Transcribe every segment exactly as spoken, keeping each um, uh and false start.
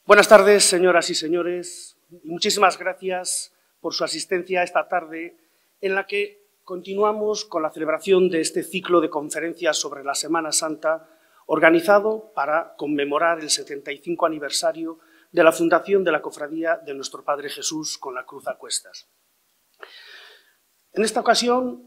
Buenas tardes, señoras y señores. Muchísimas gracias por su asistencia esta tarde, en la que continuamos con la celebración de este ciclo de conferencias sobre la Semana Santa, organizado para conmemorar el setenta y cinco aniversario de la fundación de la Cofradía de Nuestro Padre Jesús con la Cruz a cuestas. En esta ocasión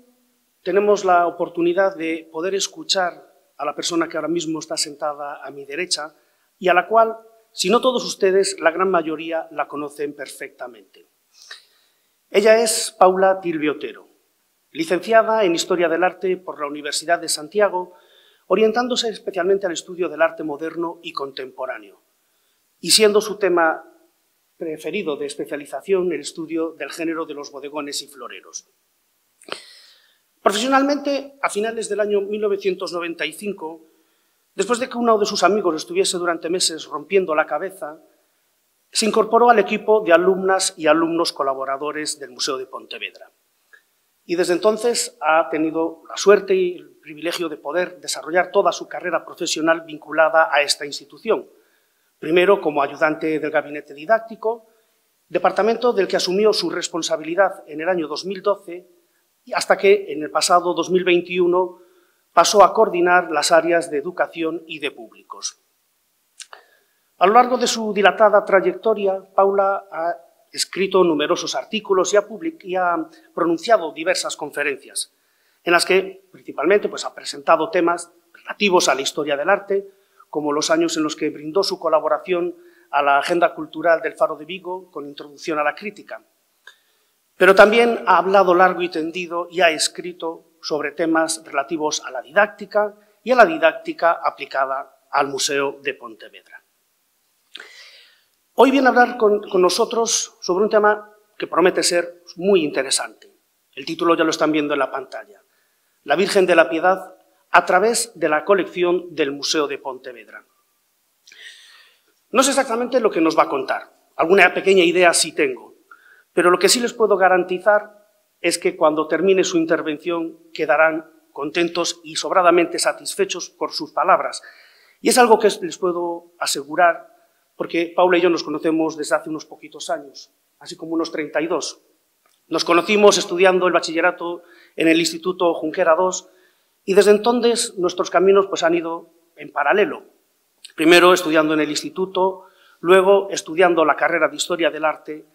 tenemos la oportunidad de poder escuchar a la persona que ahora mismo está sentada a mi derecha y a la cual, si no todos ustedes, la gran mayoría la conocen perfectamente. Ella es Paula Tilbe Otero, licenciada en Historia del Arte por la Universidad de Santiago, orientándose especialmente al estudio del arte moderno y contemporáneo, y siendo su tema preferido de especialización el estudio del género de los bodegones y floreros. Profesionalmente, a finales del año mil novecientos noventa y cinco, después de que uno de sus amigos estuviese durante meses rompiendo la cabeza, se incorporó al equipo de alumnas y alumnos colaboradores del Museo de Pontevedra. Y desde entonces ha tenido la suerte y el privilegio de poder desarrollar toda su carrera profesional vinculada a esta institución. Primero como ayudante del gabinete didáctico, departamento del que asumió su responsabilidad en el año dos mil doce, y hasta que en el pasado dos mil veintiuno pasó a coordinar las áreas de educación y de públicos. A lo largo de su dilatada trayectoria, Paula ha escrito numerosos artículos y ha, y ha pronunciado diversas conferencias, en las que principalmente pues, ha presentado temas relativos a la historia del arte, como los años en los que brindó su colaboración a la Agenda Cultural del Faro de Vigo con introducción a la crítica. Pero también ha hablado largo y tendido y ha escrito sobre temas relativos a la didáctica y a la didáctica aplicada al Museo de Pontevedra. Hoy viene a hablar con, con nosotros sobre un tema que promete ser muy interesante. El título ya lo están viendo en la pantalla. La Virgen de la Piedad a través de la colección del Museo de Pontevedra. No sé exactamente lo que nos va a contar. Alguna pequeña idea sí tengo. Pero lo que sí les puedo garantizar es que cuando termine su intervención quedarán contentos y sobradamente satisfechos por sus palabras. Y es algo que les puedo asegurar porque Paula y yo nos conocemos desde hace unos poquitos años, así como unos treinta y dos. Nos conocimos estudiando el bachillerato en el Instituto Junquera dos y desde entonces nuestros caminos pues, han ido en paralelo. Primero estudiando en el instituto, luego estudiando la carrera de Historia del Arte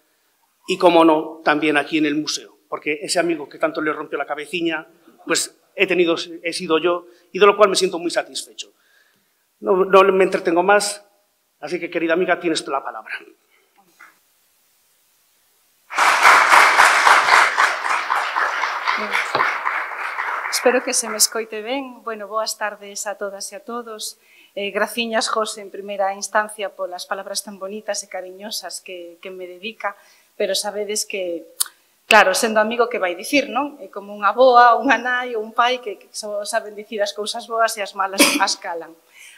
y, como no, también aquí en el museo, porque ese amigo que tanto le rompió la cabeciña, pues he, tenido, he sido yo, y de lo cual me siento muy satisfecho. No, no me entretengo más, así que, querida amiga, tienes la palabra. Bien. Espero que se me escoite ben. Bueno, boas tardes a todas e a todos. Eh, graciñas, José, en primeira instancia, polas palabras tan bonitas e cariñosas que, que me dedica, pero sabedes que, claro, sendo amigo, que vai dicir, non? É como unha boa, unha nai ou un pai que, que só saben dicir as cousas boas e as malas as calan.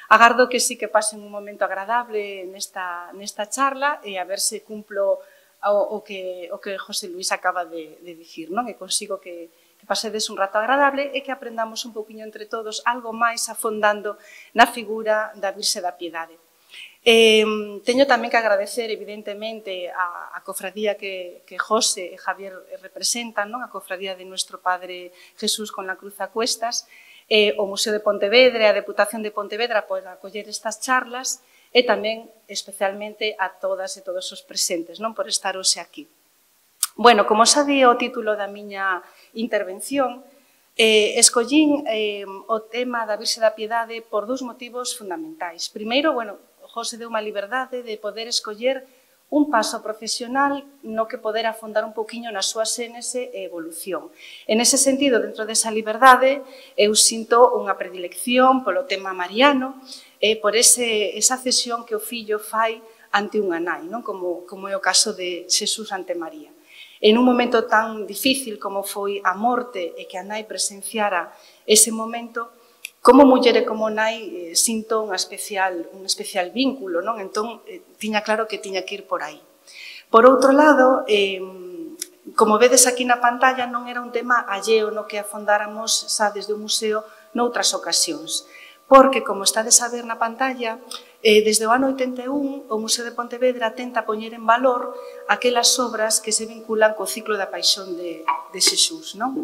Agardo que sí que pasen un momento agradable nesta, nesta charla e a ver se cumplo o, o, que, o que José Luis acaba de, de dicir, non? E consigo que, que pasedes un rato agradable e que aprendamos un poquinho entre todos algo máis afondando na figura da Virxe da Piedade. Eh, teño tamén que agradecer, evidentemente, a, a cofradía que, que José e Javier representan, non? A cofradía de Nuestro Padre Jesús con la Cruz a cuestas, eh, o Museo de Pontevedra e a Deputación de Pontevedra por acoller estas charlas e tamén, especialmente, a todas e todos os presentes, non? Por estar hoxe aquí. Bueno, como xa di o título da miña intervención, eh, escollín eh, o tema da Virxe da Piedade por dous motivos fundamentais. Primeiro, bueno, José deu unha liberdade de poder escoller un paso profesional no que poder afondar un poquinho na súa xénese e evolución. En ese sentido, dentro desa liberdade, eu sinto unha predilección polo tema mariano e por ese, esa cesión que o fillo fai ante unha nai, non? Como, como é o caso de Xesús ante María. En un momento tan difícil como foi a morte e que a nai presenciara ese momento, como muller e como nai eh, sinto unha especial, un especial vínculo, non? Entón, eh, tiña claro que tiña que ir por aí. Por outro lado, eh, como vedes aquí na pantalla, non era un tema alleo no que afondáramos xa desde o museo noutras ocasións, porque, como estades a ver na pantalla, desde o ano oitenta e un, o Museo de Pontevedra tenta poñer en valor aquelas obras que se vinculan co ciclo da paixón de, de Xesús, non?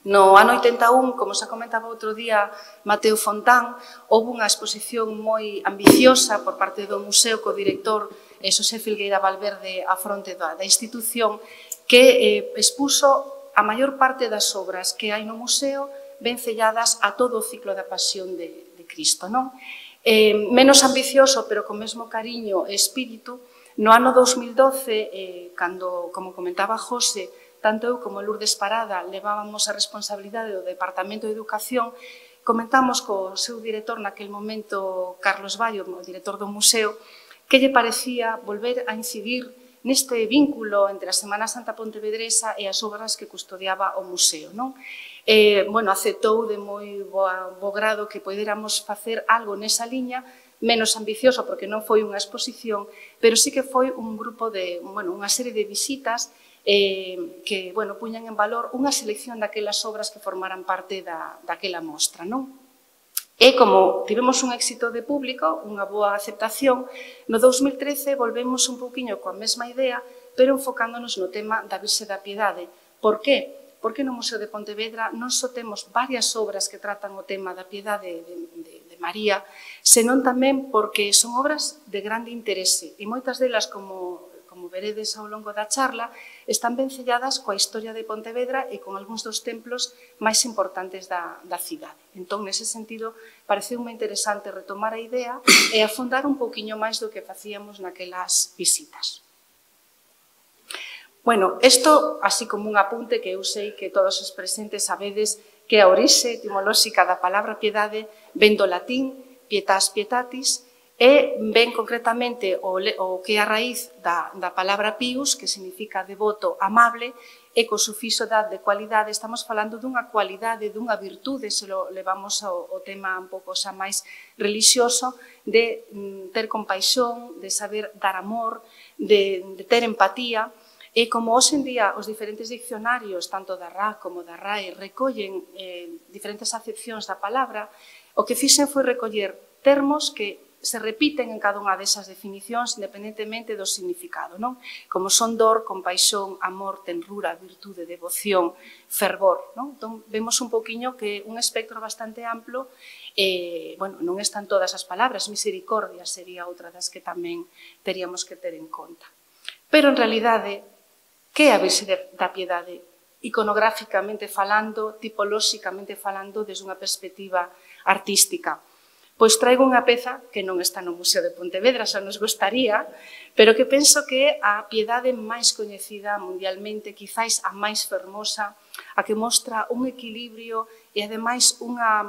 No ano oitenta e un, como xa comentaba outro día Mateo Fontán, houve unha exposición moi ambiciosa por parte do museo co director Xosé Filgueira Valverde á fronte da, da institución, que eh, expuso a maior parte das obras que hai no museo vencelladas a todo o ciclo da pasión de, de Cristo, non? Eh, menos ambicioso, pero con mesmo cariño e espírito, no ano dos mil doce, eh, cando, como comentaba José, tanto eu como Lourdes Parada levábamos a responsabilidade do Departamento de Educación, comentamos co seu director naquel momento, Carlos Bayo, o director do museo, que lle parecía volver a incidir neste vínculo entre a Semana Santa Pontevedresa e as obras que custodiaba o museo, non? Eh, bueno, aceptou de moi boa, bo grado que poderamos facer algo nesa liña, menos ambicioso porque non foi unha exposición, pero sí que foi un grupo de, bueno, unha serie de visitas eh, que, bueno, puñan en valor unha selección daquelas obras que formaran parte da, daquela mostra, non? E como tivemos un éxito de público, unha boa aceptación, no dos mil trece volvemos un pouquiño coa mesma idea, pero enfocándonos no tema da Virxe da Piedade. Por que? Porque no Museo de Pontevedra non só temos varias obras que tratan o tema da piedade de, de, de María, senón tamén porque son obras de grande interese e moitas delas, como, como veredes ao longo da charla, están vencelladas coa historia de Pontevedra e con algúns dos templos máis importantes da, da cidade. Entón, nese sentido, pareceu moi interesante retomar a idea e afondar un pouquiño máis do que facíamos naquelas visitas. Bueno, isto, así como un apunte que eu sei que todos os presentes sabedes que a orixe etimolóxica da palabra piedade ven do latín pietas pietatis e ven concretamente o, o que é a raíz da, da palabra pius, que significa devoto, amable, e co sufixo da de cualidade estamos falando dunha cualidade, dunha virtude, se lo levamos ao, ao tema un pouco xa máis religioso, de mm, ter compaixón, de saber dar amor, de, de ter empatía. E como hoxe en día os diferentes diccionarios, tanto da R A como da R A E, recollen eh, diferentes acepcións da palabra, o que fixen foi recoller termos que se repiten en cada unha desas definicións independentemente do significado, non? Como son dor, compaixón, amor, tenrura, virtude, devoción, fervor, non? Entón, vemos un poquinho que un espectro bastante amplo, eh, bueno, non están todas as palabras, misericordia sería outra das que tamén teríamos que ter en conta. Pero, en realidade, que é a Virxe da Piedade? Iconográficamente falando, tipolóxicamente falando, desde unha perspectiva artística. Pois traigo unha peza que non está no Museo de Pontevedra, xa nos gostaría, pero que penso que é a piedade máis coñecida mundialmente, quizáis a máis fermosa, a que mostra un equilibrio e, ademais, unha,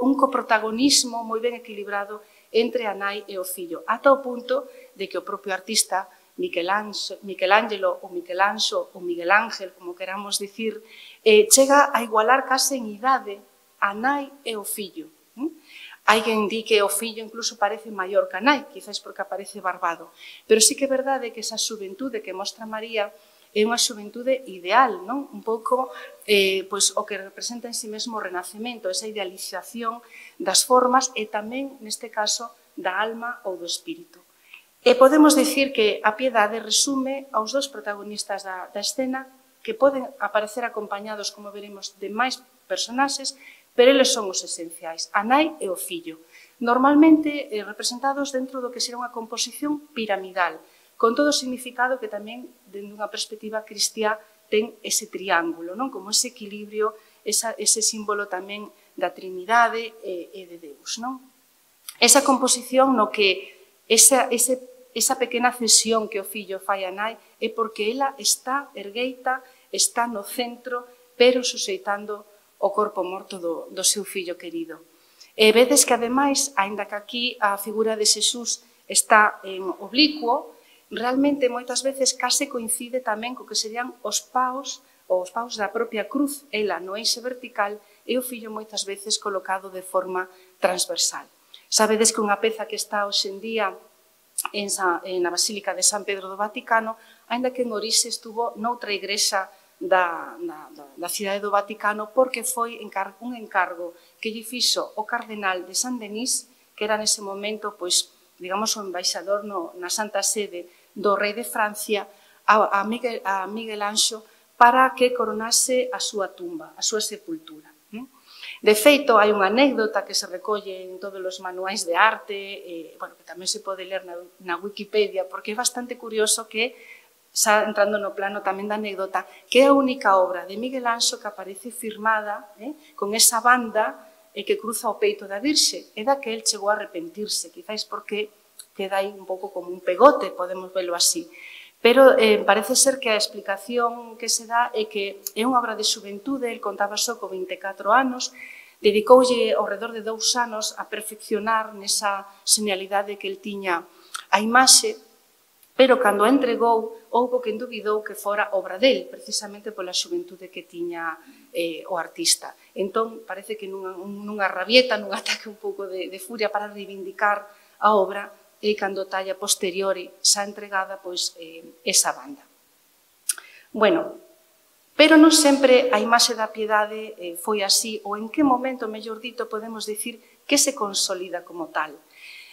un coprotagonismo moi ben equilibrado entre a nai e o fillo, ata o punto de que o propio artista Michelangelo ou Michelanxo ou Miguel Ángel, como queramos dicir, eh, chega a igualar case en idade a nai e o fillo. ¿Mm? Hai quen di que o fillo incluso parece maior que a nai, quizás porque aparece barbado. Pero sí que é verdade que esa xuventude que mostra María é unha xuventude ideal, non? Un pouco eh, pois, o que representa en si mesmo o renacemento, esa idealización das formas e tamén, neste caso, da alma ou do espírito. E podemos dicir que a piedade resume aos dos protagonistas da, da escena que poden aparecer acompañados, como veremos, de máis personaxes, pero eles son os esenciais, a nai e o fillo. Normalmente eh, representados dentro do que será unha composición piramidal, con todo o significado que tamén, dentro dunha perspectiva cristiá, ten ese triángulo, non? Como ese equilibrio, esa, ese símbolo tamén da Trinidade e, e de Deus, non? Esa composición no que esa, ese esa pequena cesión que o fillo fai a nai é porque ela está ergueita, está no centro, pero suxeitando o corpo morto do, do seu fillo querido. E vedes que, ademais, aínda que aquí a figura de Xesús está en oblicuo, realmente moitas veces case coincide tamén co que serían os paus, os paus da propia cruz, ela no eixe vertical e o fillo moitas veces colocado de forma transversal. Sabedes que unha peza que está hoxe en día En, Sa, en a Basílica de San Pedro do Vaticano, aínda que en orixe estuvo noutra igrexa da, da, da cidade do Vaticano, porque foi encar, un encargo que lle fixo o cardenal de San Denis, que era nese momento, pois, digamos, o embaixador no, na Santa Sede do rei de Francia, a, a, Miguel, a Miguel Anxo, para que coronase a súa tumba, a súa sepultura. De feito, hai unha anécdota que se recolle en todos os manuais de arte, eh, bueno, que tamén se pode ler na, na Wikipedia, porque é bastante curioso que, xa entrando no plano tamén da anécdota, que é a única obra de Miguel Anxo que aparece firmada eh, con esa banda e que cruza o peito da Virxe, e da que el chegou a arrepentirse, quizáis porque queda aí un pouco como un pegote, podemos velo así. Pero eh, parece ser que a explicación que se dá é que é unha obra de xuventude, el contaba só con vinte e catro anos, dedicoulle ao redor de dous anos a perfeccionar nesa señalidade que el tiña a imaxe, pero cando a entregou, houbo quen dubidou que fora obra del, precisamente pola xuventude que tiña eh, o artista. Entón, parece que nunha, nunha rabieta, nun ataque un pouco de, de furia para reivindicar a obra, e cando talla posteriori xa entregada, pois, eh, esa banda. Bueno, pero non sempre a imaxe da piedade eh, foi así, ou en que momento, mellor dito, podemos dicir que se consolida como tal.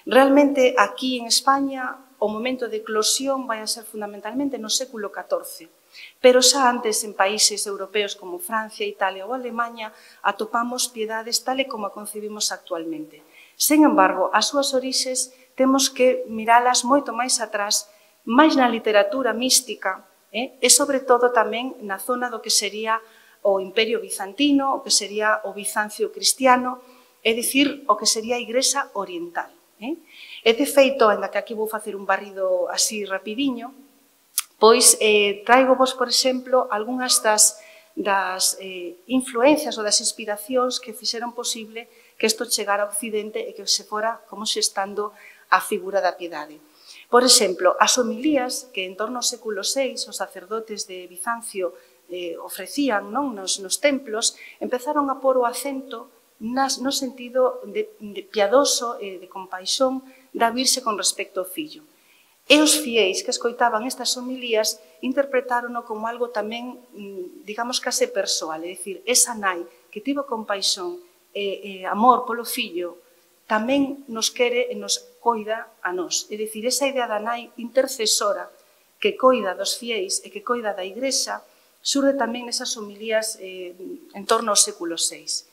Realmente, aquí en España, o momento de eclosión vai a ser fundamentalmente no século catorce. Pero xa antes, en países europeos como Francia, Italia ou Alemanha, atopamos piedades tal e como a concebimos actualmente. Sen embargo, as súas orixes temos que miralas moito máis atrás, máis na literatura mística, eh? e sobre todo tamén na zona do que sería o Imperio Bizantino, o que sería o Bizancio cristiano, é dicir, o que sería a Igrexa Oriental. Eh? E de feito, ainda que aquí vou facer un barrido así rapidiño, pois eh, traigo vos, por exemplo, algunhas das, das eh, influencias ou das inspiracións que fixeron posible que isto chegara ao Occidente e que se fora como xestando a figura da piedade. Por exemplo, as homilías que en torno ao século seis os sacerdotes de Bizancio eh, ofrecían non, nos, nos templos, empezaron a pôr o acento nas, no sentido de, de piadoso e de compaixón da Virxe con respecto ao fillo. E os fiéis que escoitaban estas homilías interpretárono como algo tamén, digamos, case persoal, é dicir, esa nai que tivo compaixón e, e amor polo fillo tamén nos quere e nos coida a nós. É dicir, esa idea da nai intercesora que coida dos fiéis e que coida da Igrexa surde tamén nesas homilías eh, en torno ao século seis.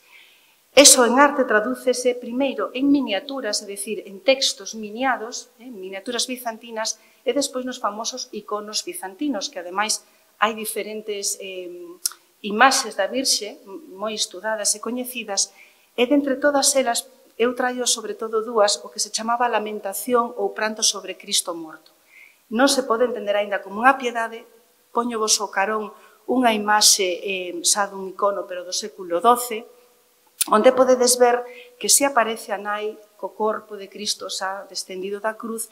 Eso en arte tradúcese primeiro en miniaturas, é dicir, en textos miniados, eh, miniaturas bizantinas, e despois nos famosos iconos bizantinos, que ademais hai diferentes eh, imaxes da Virxe moi estudadas e coñecidas, e dentre todas elas eu traio sobre todo dúas, o que se chamaba lamentación ou pranto sobre Cristo morto. Non se pode entender aínda como unha piedade, poño vos ao carón unha imaxe eh, xa dun icono, pero do século doce, onde podedes ver que se aparece a nai co corpo de Cristo xa descendido da cruz.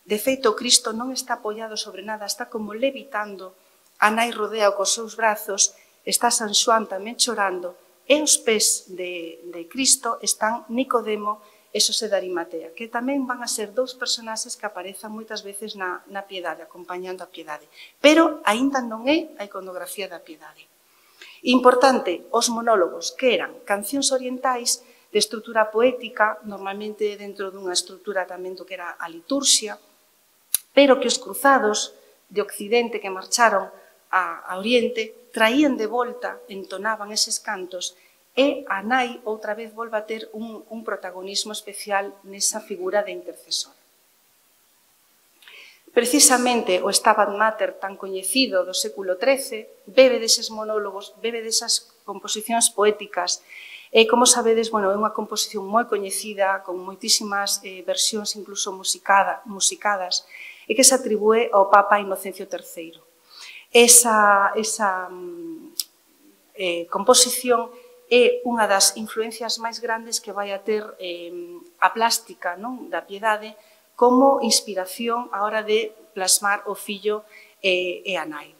De feito, Cristo non está apoiado sobre nada, está como levitando, a nai rodea cos seus brazos, está San Xoán tamén chorando, e os pés de, de Cristo están Nicodemo e Xosé de Arimatea, que tamén van a ser dous personaxes que aparezan moitas veces na, na piedade, acompañando a piedade. Pero aínda non é a iconografía da piedade. Importante, os monólogos, que eran cancións orientais de estrutura poética, normalmente dentro dunha estrutura tamén do que era a liturxia, pero que os cruzados de Occidente que marcharon a, a Oriente traían de volta, entonaban eses cantos, e a nai outra vez volve a ter un, un protagonismo especial nesa figura de intercesora. Precisamente o Stabat Mater tan coñecido do século trece bebe deses monólogos, bebe desas composicións poéticas. E, como sabedes, bueno, é unha composición moi coñecida, con moitísimas eh, versións incluso musicada, musicadas, e que se atribúe ao Papa Inocencio terceiro. Esa, esa eh, composición é unha das influencias máis grandes que vai a ter eh, a plástica, non, da piedade, como inspiración á hora de plasmar o fillo e, e a nai.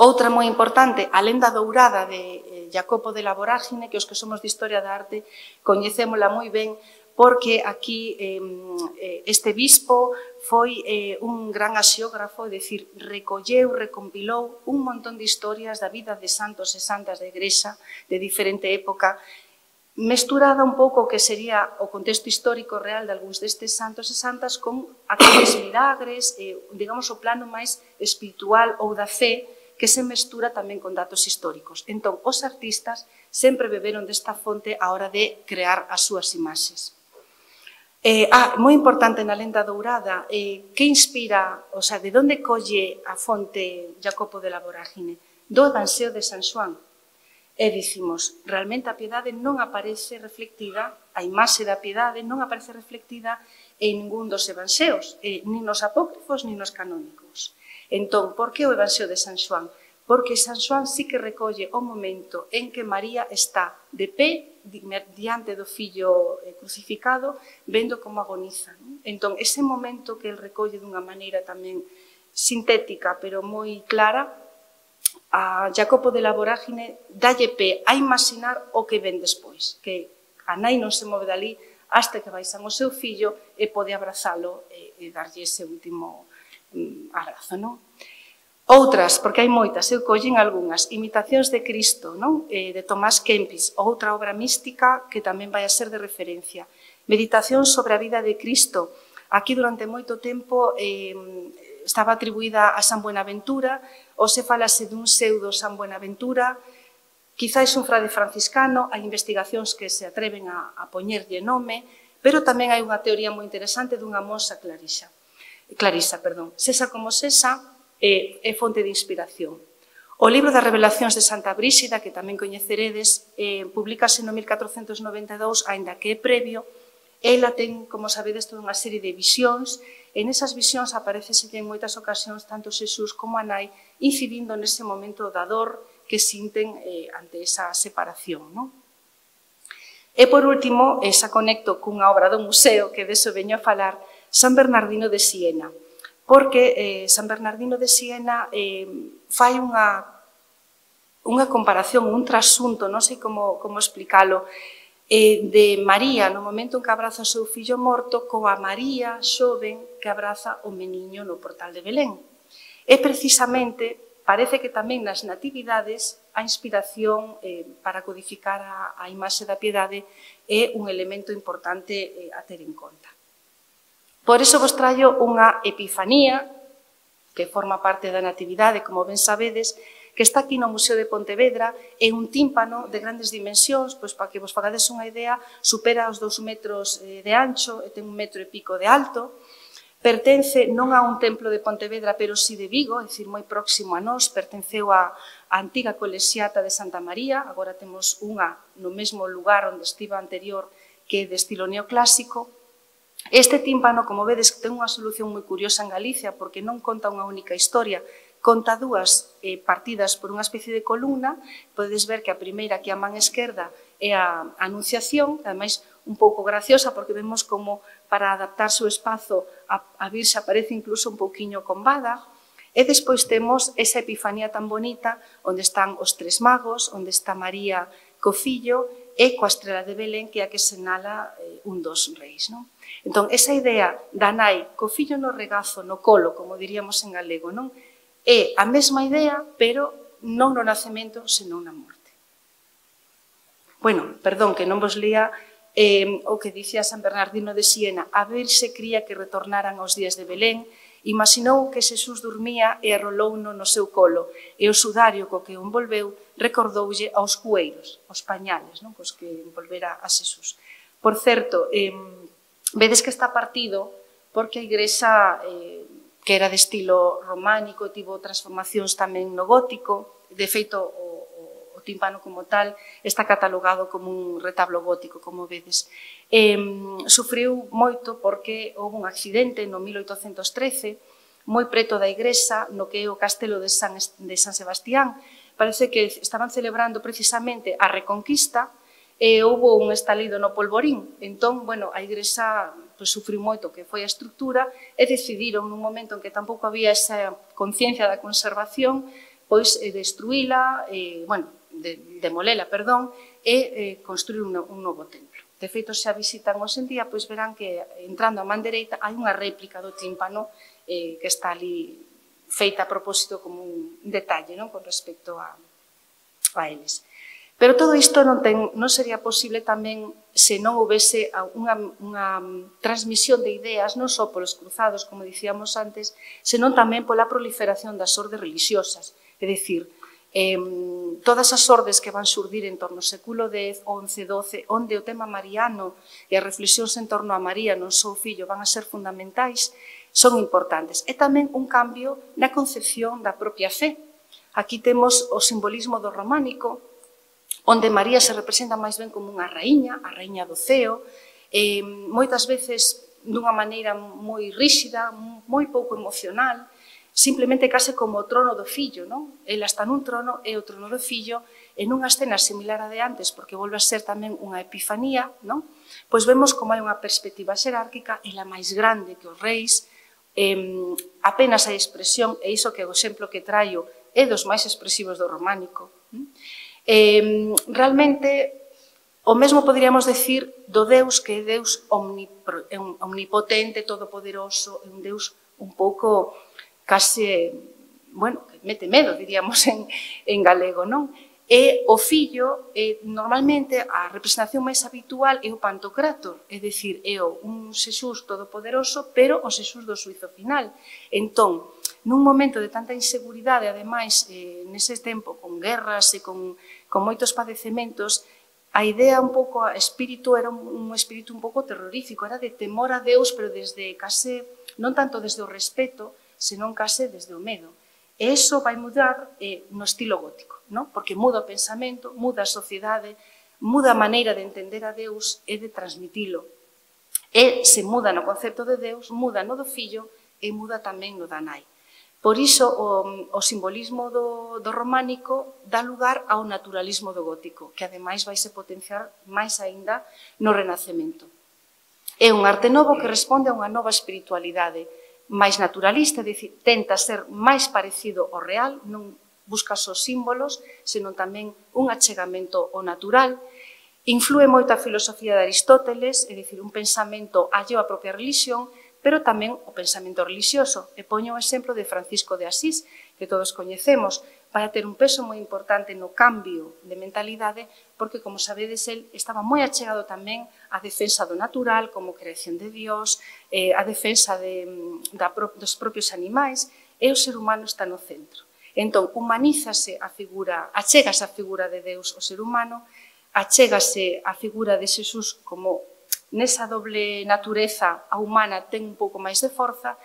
Outra moi importante, a lenda dourada de Jacopo de la Vorágine, que os que somos de Historia da Arte coñecémola moi ben, porque aquí eh, este bispo foi eh, un gran axiógrafo, é dicir, recolleu, recompilou un montón de historias da vida de santos e santas da Igrexa de diferente época, mesturada un pouco o que sería o contexto histórico real de algúns destes santos e santas con aqueles milagres, eh, digamos, o plano máis espiritual ou da fe, que se mestura tamén con datos históricos. Entón, os artistas sempre beberon desta fonte a hora de crear as súas imaxes. Eh, ah, moi importante na lenda dourada, eh, que inspira, o sea, de onde colle a fonte Jacopo de la Vorágine? Do Evanxeo de San Xoán. E dicimos, realmente a piedade non aparece reflectida, a imaxe da piedade non aparece reflectida en ningún dos evanxeos, eh, nin nos apócrifos, nin nos canónicos. Entón, por que o Evanxeo de San Xoán? Porque San Xoán sí que recolle o momento en que María está de pé diante do fillo crucificado, vendo como agoniza. Entón, ese momento que el recolle dunha maneira tamén sintética, pero moi clara, a Jacopo de la Vorágine dalle pé a imaginar o que ven despois, que a nai non se move dali hasta que baixan o seu fillo e pode abrazalo e, e darlle ese último mm, abrazo, non? Outras, porque hai moitas, eu collen algunhas, Imitacións de Cristo, non? Eh, de Tomás Kempis, outra obra mística que tamén vai a ser de referencia. Meditación sobre a vida de Cristo. Aquí durante moito tempo eh, estaba atribuída a San Buenaventura, ou se falase dun pseudo San Buenaventura, quizáis un frade franciscano, hai investigacións que se atreven a, a poñerlle nome, pero tamén hai unha teoría moi interesante dunha monxa Clarisa. Clarisa, perdón. Sesa como sesa, é, é fonte de inspiración. O libro das Revelacións de Santa Bríxida, que tamén coñeceredes, eh, publicase no mil catrocentos noventa e dous, aínda que é previo. Ela ten, como sabedes, toda unha serie de visións, e nesas visións aparecese en moitas ocasións tanto Xesús como a nai incidindo nese momento da dor que sinten eh, ante esa separación. Non? E, por último, esa conecto cunha obra do museo, que deso veño a falar, San Bernardino de Siena, porque eh, San Bernardino de Siena eh, fai unha, unha comparación, un trasunto, non sei como, como explicalo, eh, de María no momento en que abraza o seu fillo morto coa María xoven que abraza o meniño no portal de Belén. E precisamente parece que tamén nas natividades a inspiración eh, para codificar a, a imaxe da piedade é un elemento importante eh, a ter en conta. Por iso vos traio unha epifanía que forma parte da natividade, como ben sabedes, que está aquí no Museo de Pontevedra, é un tímpano de grandes dimensións, pois para que vos fagades unha idea, supera os dous metros de ancho e ten un metro e pico de alto. Pertence non a un templo de Pontevedra, pero si de Vigo, é dicir, moi próximo a nós, pertenceu á antiga colexiata de Santa María, agora temos unha no mesmo lugar onde estiva anterior, que é de estilo neoclásico. Este tímpano, como vedes, ten unha solución moi curiosa en Galicia, porque non conta unha única historia, conta dúas eh, partidas por unha especie de columna. Podedes ver que a primeira, que a man esquerda, é a Anunciación, ademais un pouco graciosa, porque vemos como para adaptarse o espazo a, a Virxe aparece incluso un pouquiño combada. E despois temos esa epifanía tan bonita, onde están os tres magos, onde está María co fillo e coa estrela de Belén, que é a que senala eh, un dos reis. Non? Entón, esa idea da nai co fillo no regazo, no colo, como diríamos en galego, non? É a mesma idea, pero non no nacemento, senón na morte. Bueno, perdón, que non vos lía eh, o que dicía San Bernardino de Siena. A Virxe cría que retornaran aos días de Belén, imaginou que Xesús dormía e arrolouno no seu colo, e o sudario co que o envolveu recordoulle aos cueiros, aos pañales, non? Cos que envolvera a Xesús. Por certo, eh, vedes que está partido porque a Igrexa, eh, que era de estilo románico, tivo transformacións tamén no gótico. De feito, o, o, o tímpano como tal está catalogado como un retablo gótico, como vedes. Eh, sufriu moito porque houve un accidente no mil oitocentos trece, moi preto da Igrexa, no que é o castelo de San, de San Sebastián. Parece que estaban celebrando precisamente a Reconquista, e houve un estalido no polvorín. Entón, bueno, a Igrexa pues, sufriu moito que foi a estrutura e decidiron nun momento en que tampouco había esa conciencia da conservación, pois eh, destruíla, eh, bueno, de, demolela, perdón, e eh, construir un, un novo templo. De feito, se a visitan hoxe en día, pois verán que entrando a man dereita hai unha réplica do tímpano eh, que está ali feita a propósito como un detalle, non? Con respecto a, a eles. Pero todo isto non, ten, non sería posible tamén se non houvese unha, unha transmisión de ideas non só polos cruzados, como dicíamos antes, senón tamén pola proliferación das ordes religiosas. É dicir, eh, todas as ordes que van xurdir en torno ao século dez, once, doce, onde o tema mariano e as reflexións en torno a María non só o fillo van a ser fundamentais, son importantes. E tamén un cambio na concepción da propia fe. Aquí temos o simbolismo do románico, onde María se representa máis ben como unha raíña, a raíña do ceo, eh, moitas veces dunha maneira moi ríxida, moi pouco emocional, simplemente case como o trono do fillo, non? Ela está nun trono e o trono do fillo, en unha escena similar a de antes, porque volve a ser tamén unha epifanía, non? Pois vemos como hai unha perspectiva xerárquica, ela máis grande que os reis, eh, apenas hai expresión, e iso que o exemplo que traio é dos máis expresivos do románico. Eh, realmente, o mesmo poderíamos decir do Deus que é Deus omnipotente, todopoderoso, un Deus un pouco case, bueno, que mete medo, diríamos en, en galego, non? E o fillo, eh, normalmente, a representación máis habitual é o Pantocrátor, é dicir, é un Xesús todopoderoso, pero o Xesús do suizo final. Entón, nun momento de tanta inseguridade, ademais, eh, nese tempo, con guerras e con, con moitos padecementos, a idea un pouco, a espírito, era un, un espírito un pouco terrorífico, era de temor a Deus, pero desde case, non tanto desde o respeto, senón case desde o medo. E iso vai mudar eh, no estilo gótico, non? Porque muda o pensamento, muda a sociedade, muda a maneira de entender a Deus e de transmitilo. E se muda no concepto de Deus, muda no do fillo e muda tamén no da nai. Por iso, o, o simbolismo do, do románico dá lugar ao naturalismo do gótico, que ademais vai se potenciar máis aínda no Renacemento. É un arte novo que responde a unha nova espiritualidade máis naturalista, é dicir, tenta ser máis parecido ao real, non busca só símbolos, senón tamén un achegamento ao natural. Inflúe moito a filosofía de Aristóteles, é dicir, un pensamento alleo á propia religión, pero tamén o pensamento religioso. E poño o exemplo de Francisco de Asís, que todos coñecemos, vai a ter un peso moi importante no cambio de mentalidade, porque, como sabedes, el estaba moi achegado tamén á defensa do natural, como creación de Dios, eh, a defensa de, da, dos propios animais, e o ser humano está no centro. Entón, humanízase a figura, achégase a figura de Deus ao ser humano, achégase a figura de Xesús como nesa doble natureza a humana ten un pouco máis de forza,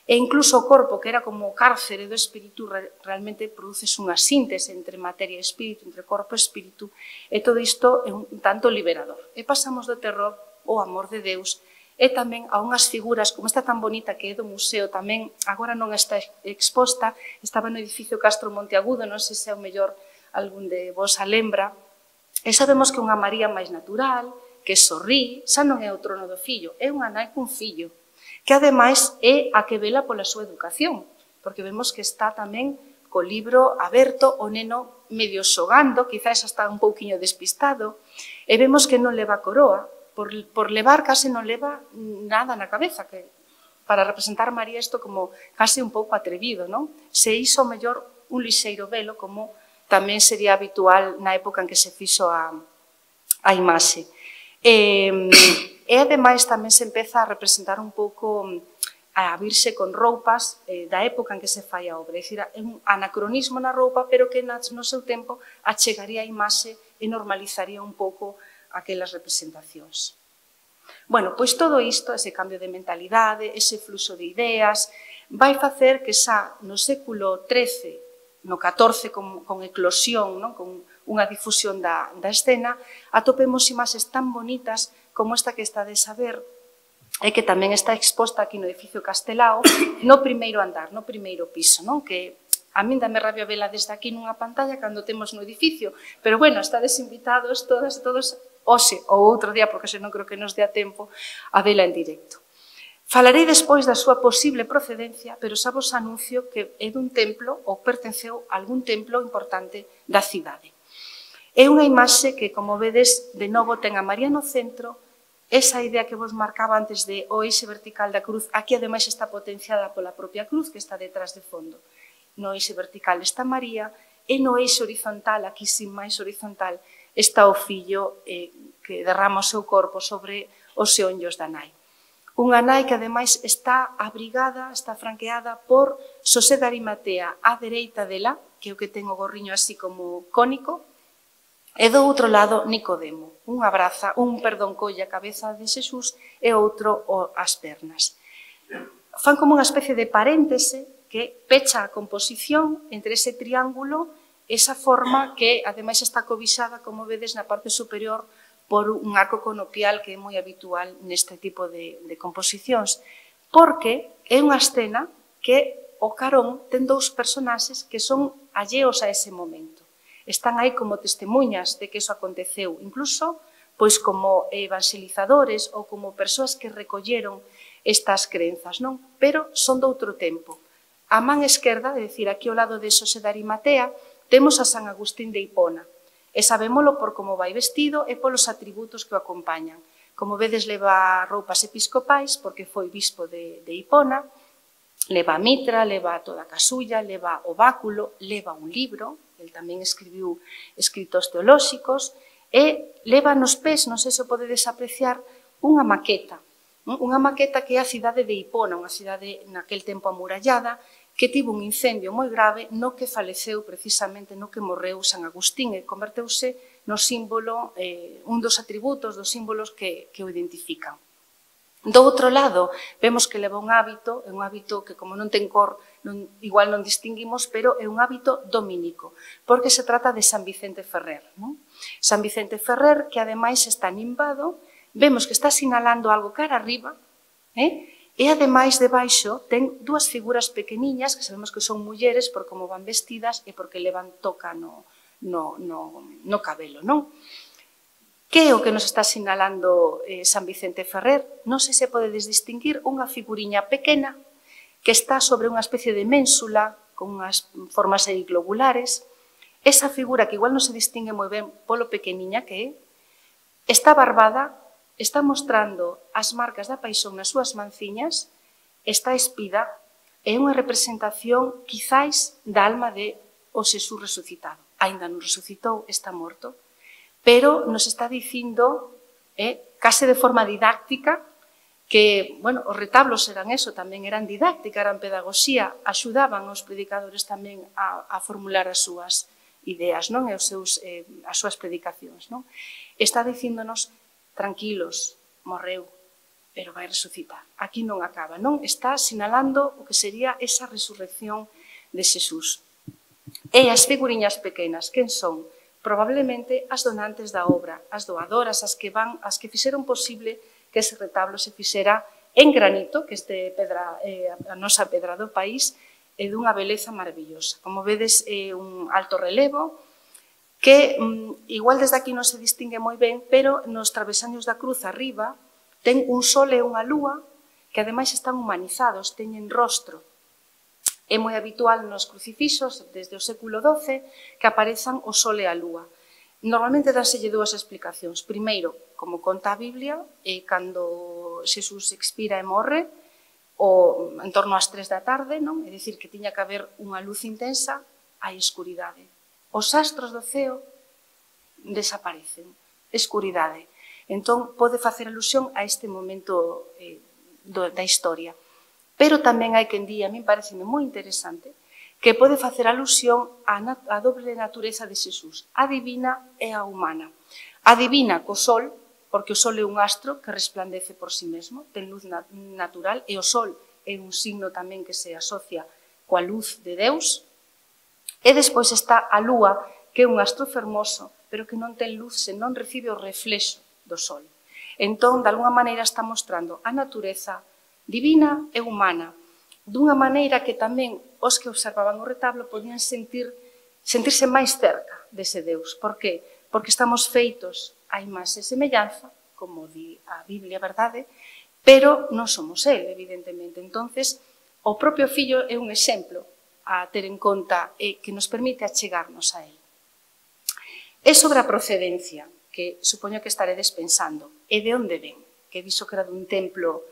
e incluso o corpo, que era como o cárcere do espírito, realmente produces unha síntese entre materia e espírito, entre corpo e espírito, e todo isto é un tanto liberador. E pasamos do terror ao amor de Deus, e tamén a unhas figuras como esta tan bonita que é do museo, tamén agora non está exposta, estaba no edificio Castro Monteagudo, non sei se é o mellor algún de vos a lembra, e sabemos que unha María máis natural, que sorrí, xa non é o trono do fillo, é unha nai cun fillo, que ademais é a que vela pola súa educación, porque vemos que está tamén co libro aberto, o neno medio xogando, quizás está un pouquiño despistado, e vemos que non leva coroa, por, por levar case non leva nada na cabeza, que para representar a María isto como case un pouco atrevido, non? Se iso mellor un lixeiro velo, como tamén sería habitual na época en que se fixo a, a imaxe. E, e ademais tamén se empeza a representar un pouco a virse con roupas eh, da época en que se fai a obra, é dicir, é un anacronismo na roupa, pero que no seu tempo achegaría a imaxe e normalizaría un pouco aquelas representacións. Bueno, pois todo isto, ese cambio de mentalidade, ese fluxo de ideas, vai facer que xa no século trece, no catorce con, con eclosión, non? Con unha difusión da, da escena, atopemos imaxes tan bonitas como esta que estades a ver, e que tamén está exposta aquí no edificio Castelao, no primeiro andar, no primeiro piso, non? Que a min dame rabia vela desde aquí nunha pantalla cando temos no edificio, pero bueno, estades invitados todas e todos hoxe ou outro día, porque senón creo que nos dea tempo, a vela en directo. Falarei despois da súa posible procedencia, pero xa vos anuncio que é dun templo ou pertenceu a algún templo importante da cidade. É unha imaxe que, como vedes, de novo ten a María no centro, esa idea que vos marcaba antes de o eixe vertical da cruz, aquí ademais está potenciada pola propia cruz que está detrás de fondo. No eixe vertical está María, e no eixe horizontal, aquí sin máis horizontal, está o fillo eh, que derrama o seu corpo sobre os xeonllos da nai. Unha nai que, ademais, está abrigada, está franqueada por Xosé de Arimatea á dereita dela, que é o que ten o gorriño así como cónico, e do outro lado, Nicodemo. Un abraza, un, perdón, colle a cabeza de Xesús e outro as pernas. Fan como unha especie de paréntese que pecha a composición entre ese triángulo, esa forma que, ademais, está cobixada, como vedes, na parte superior por un arco conopial que é moi habitual neste tipo de, de composicións, porque é unha escena que o carón ten dous personaxes que son alleos a ese momento. Están aí como testemunhas de que iso aconteceu, incluso pois como evangelizadores ou como persoas que recolleron estas crenzas, non? Pero son de outro tempo. A man esquerda, é dicir, aquí ao lado de Xosé de Arimatea, temos a San Agustín de Hipona, e sabémolo por como vai vestido e polos atributos que o acompañan. Como vedes, leva roupas episcopais, porque foi bispo de, de Hipona, leva a mitra, leva toda a casulla, leva o báculo, leva un libro, el tamén escribiu escritos teolóxicos, e leva nos pés, non sei se o podedes apreciar, unha maqueta, unha maqueta que é a cidade de Hipona, unha cidade naquel tempo amurallada, que tivo un incendio moi grave no que faleceu precisamente, no que morreu San Agustín e converteuse no símbolo, eh, un dos atributos, dos símbolos que, que o identifican. Do outro lado, vemos que leva un hábito, é un hábito que como non ten cor, non, igual non distinguimos, pero é un hábito dominico, porque se trata de San Vicente Ferrer. Non? San Vicente Ferrer, que ademais está nimbado, vemos que está sinalando algo cara arriba, eh? E, ademais, debaixo, ten dúas figuras pequeniñas, que sabemos que son mulleres por como van vestidas e porque levan toca no, no, no, no cabelo, non? Que é o que nos está sinalando eh, San Vicente Ferrer? Non sei se podedes distinguir unha figuriña pequena que está sobre unha especie de ménsula con unhas formas aí globulares. Esa figura, que igual non se distingue moi ben polo pequeniña que é, está barbada, está mostrando as marcas da paixón nas súas manciñas, está espida, é unha representación, quizáis, da alma de o Xesús resucitado. Ainda non resucitou, está morto, pero nos está dicindo, eh, case de forma didáctica, que, bueno, os retablos eran eso, tamén eran didáctica, eran pedagogía, axudaban os predicadores tamén a, a formular as súas ideas, non? E os seus, eh, as súas predicacións, non? Está dicíndonos, tranquilos, morreu, pero vai resucitar. Aquí non acaba, non? Está sinalando o que sería esa resurrección de Xesús. E as figuriñas pequenas, quen son? Probablemente as donantes da obra, as doadoras, as que van, as que fixeron posible que ese retablo se fixera en granito, que este pedra, eh, a nosa pedra do país, é dunha beleza maravillosa. Como vedes, é un alto relevo, que mm, igual desde aquí non se distingue moi ben, pero nos travesaños da cruz arriba ten un sol e unha lúa que ademais están humanizados, teñen rostro. É moi habitual nos crucifixos desde o século doce que aparezan o sol e a lúa. Normalmente dánselle dúas explicacións. Primeiro, como conta a Biblia, é cando Xesús expira e morre, o en torno ás tres da tarde, non? É dicir, que tiña que haber unha luz intensa, hai escuridade. Os astros do ceo desaparecen, escuridade. Entón, pode facer alusión a este momento eh, do, da historia. Pero tamén hai quen di, a min pareceme moi interesante, que pode facer alusión á, a doble natureza de Xesús, a divina e a humana. A divina co sol, porque o sol é un astro que resplandece por si mesmo, ten luz nat natural, e o sol é un signo tamén que se asocia coa luz de Deus. E despois está a lúa, que é un astro fermoso, pero que non ten luz, senón recibe o reflexo do sol. Entón, de alguna maneira, está mostrando a natureza divina e humana, dunha maneira que tamén os que observaban o retablo podían sentir, sentirse máis cerca dese Deus. Por que? Porque estamos feitos a imaxe e semellanza, como di a Biblia, verdade? Pero non somos el, evidentemente. Entonces, o propio fillo é un exemplo a ter en conta e que nos permite achegarnos a él. É sobre a procedencia, que supoño que estaredes pensando, e de onde ven, que dixo que era dun templo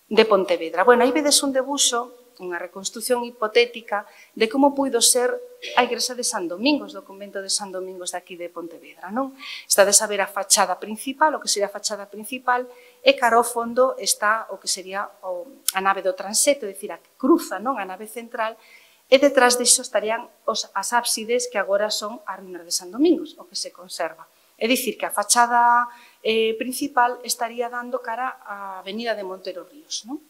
de Pontevedra. Bueno, aí vedes un debuxo unha reconstrucción hipotética de como puido ser a igrexa de San Domingos, do convento de San Domingos de aquí de Pontevedra, non? Estades a ver a fachada principal, o que sería a fachada principal, e cara ao fondo está o que sería o, a nave do transeto, é dicir, a que cruza, non? A nave central, e detrás disso estarían os, as ábsides que agora son as ruínas de San Domingos, o que se conserva. É dicir, que a fachada eh, principal estaría dando cara á avenida de Montero Ríos, non?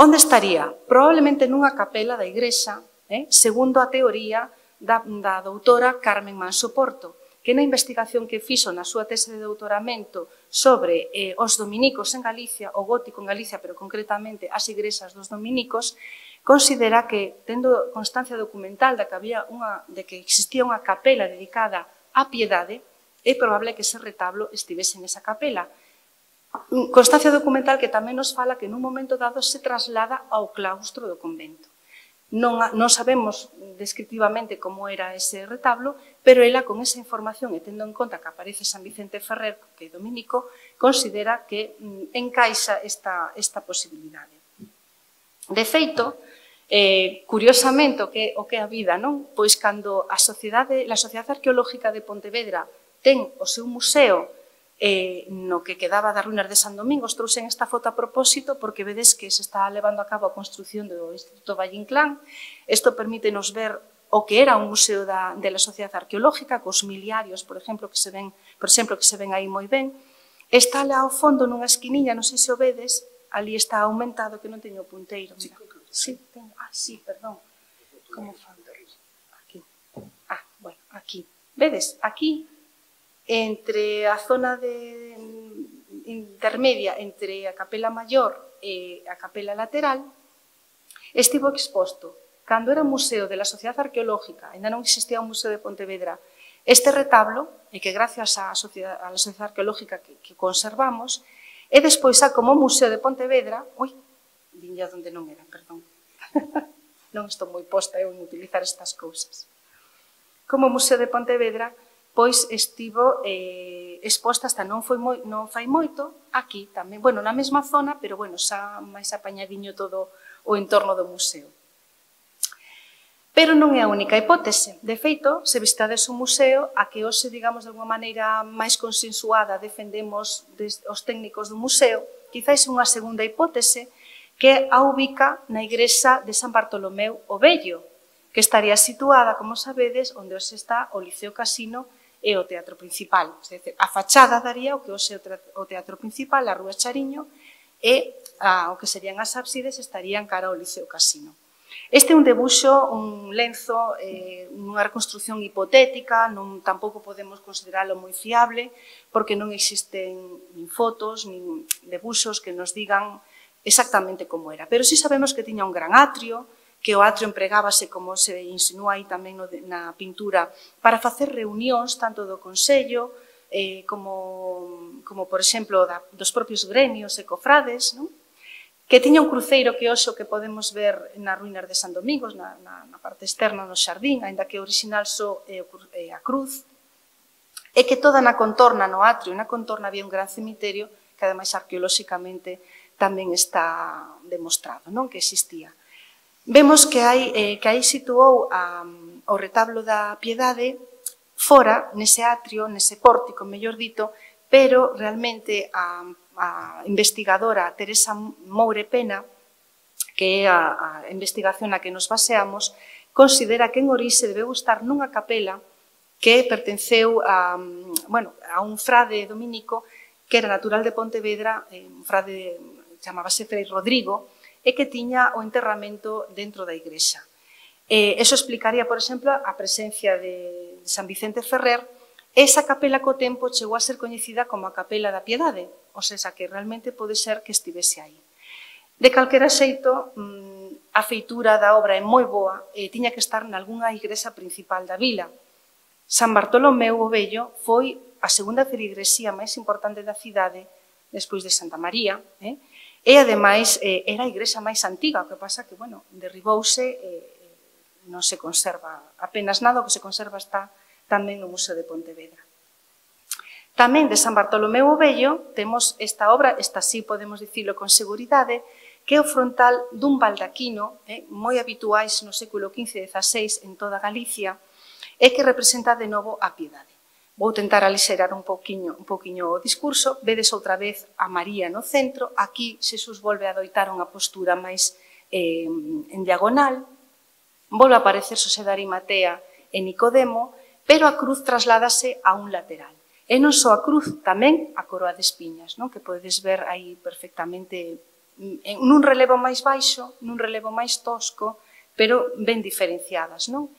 Onde estaría? Probablemente nunha capela da igrexa, eh, segundo a teoría da, da doutora Carmen Manso Porto, que na investigación que fixo na súa tese de doutoramento sobre eh, os dominicos en Galicia, o gótico en Galicia, pero concretamente as igrexas dos dominicos, considera que, tendo constancia documental de que, había unha, de que existía unha capela dedicada á piedade, é probable que ese retablo estivese nesa capela. Constancia documental que tamén nos fala que nun momento dado se traslada ao claustro do convento. Non, non sabemos descriptivamente como era ese retablo, pero ela con esa información e tendo en conta que aparece San Vicente Ferrer, que é dominico, considera que mm, encaixa esta, esta posibilidade. De feito, Eh, curiosamente, o que, o que é a vida, non? Pois cando a Sociedade, a Sociedade Arqueológica de Pontevedra ten o seu museo eh, no que quedaba das ruínas de San Domingos, trouxen esta foto a propósito porque vedes que se está levando a cabo a construción do Instituto Valle Inclán. Isto permítenos ver o que era un museo da, de la Sociedade Arqueológica, cos miliarios, por exemplo, que se ven, por exemplo, que se ven aí moi ben. Está lá ao fondo nunha esquiniña, non sei se o vedes, ali está aumentado, que non teño o punteiro, mira. Sí, tengo. Ah, sí, perdón. Como fan? Aquí. Ah, bueno, aquí. Vedes? Aquí, entre a zona de intermedia entre a capela maior e a capela lateral, estivo exposto, cando era museo de la Sociedade Arqueológica, ainda non existía un museo de Pontevedra, este retablo, e que gracias á Sociedade, á Sociedade Arqueológica que, que conservamos, e despois xa como museo de Pontevedra, ui, viña onde non era, perdón. Non estou moi posta eu en utilizar estas cousas. Como Museo de Pontevedra, pois estivo eh, exposta hasta non, foi moi, non fai moito, aquí tamén, bueno, na mesma zona, pero bueno, xa máis apañadiño todo o entorno do museo. Pero non é a única hipótese. De feito, se visitades un museo, a que hoxe, digamos, de alguma maneira máis consensuada defendemos os técnicos do museo, quizáis unha segunda hipótese, que a ubica na igrexa de San Bartolomeu o Vello, que estaría situada, como sabedes, onde hoxe está o Liceo Casino e o Teatro Principal. A fachada daría o que hoxe o Teatro Principal, a Rúa Chariño, e a, o que serían as ábsides estarían cara ao Liceo Casino. Este é un debuxo, un lenzo, eh, unha reconstrucción hipotética, non, tampouco podemos consideralo moi fiable, porque non existen nin fotos, nin debuxos que nos digan exactamente como era. Pero sí sabemos que tiña un gran atrio, que o atrio empregábase, como se insinúa aí tamén na pintura, para facer reunións tanto do Consello, eh, como, como, por exemplo, da, dos propios gremios e cofrades, non? Que tiña un cruceiro que hoxe que podemos ver nas ruínas de San Domingos, na, na, na parte externa no xardín, aínda que o original só é a cruz, e que toda na contorna, no atrio e na contorna había un gran cemiterio que ademais arqueolóxicamente tamén está demostrado, non, que existía. Vemos que hai, eh, que aí situou a, o retablo da Piedade fora, nese atrio, nese pórtico, mellor dito, pero realmente a, a investigadora Teresa Moure Pena, que é a, a investigación na que nos baseamos, considera que en orixe debeu estar nunha capela que pertenceu a, bueno, a un frade dominico que era natural de Pontevedra, un frade chamábase Frei Rodrigo, e que tiña o enterramento dentro da igrexa. Eh, eso explicaría, por exemplo, a presencia de San Vicente Ferrer, e esa capela co tempo chegou a ser coñecida como a Capela da Piedade, ou seja, que realmente pode ser que estivese aí. De calquera xeito, a feitura da obra é moi boa e tiña que estar nalgúnha igrexa principal da vila. San Bartolomeu o Vello foi a segunda feligresía máis importante da cidade, despois de Santa María, eh? E, ademais, eh, era a igrexa máis antiga, o que pasa que, bueno, derribouse e eh, non se conserva apenas nada, o que se conserva está tamén no Museo de Pontevedra. Tamén de San Bartolomeu o Vello temos esta obra, esta sí podemos dicilo con seguridade, que é o frontal dun baldaquino, eh, moi habituais no século quince e dezaseis en toda Galicia, e que representa de novo a piedade. Vou tentar alixerar un poquinho, un poquinho o discurso. Vedes outra vez a María no centro. Aquí Xesús volve a adoitar unha postura máis eh, en diagonal. Volve a aparecer Xosé de Arimatea e Nicodemo, pero a cruz trasládase a un lateral. E non só a cruz, tamén a coroa de espiñas, non? Que podedes ver aí perfectamente nun relevo máis baixo, nun relevo máis tosco, pero ben diferenciadas, non?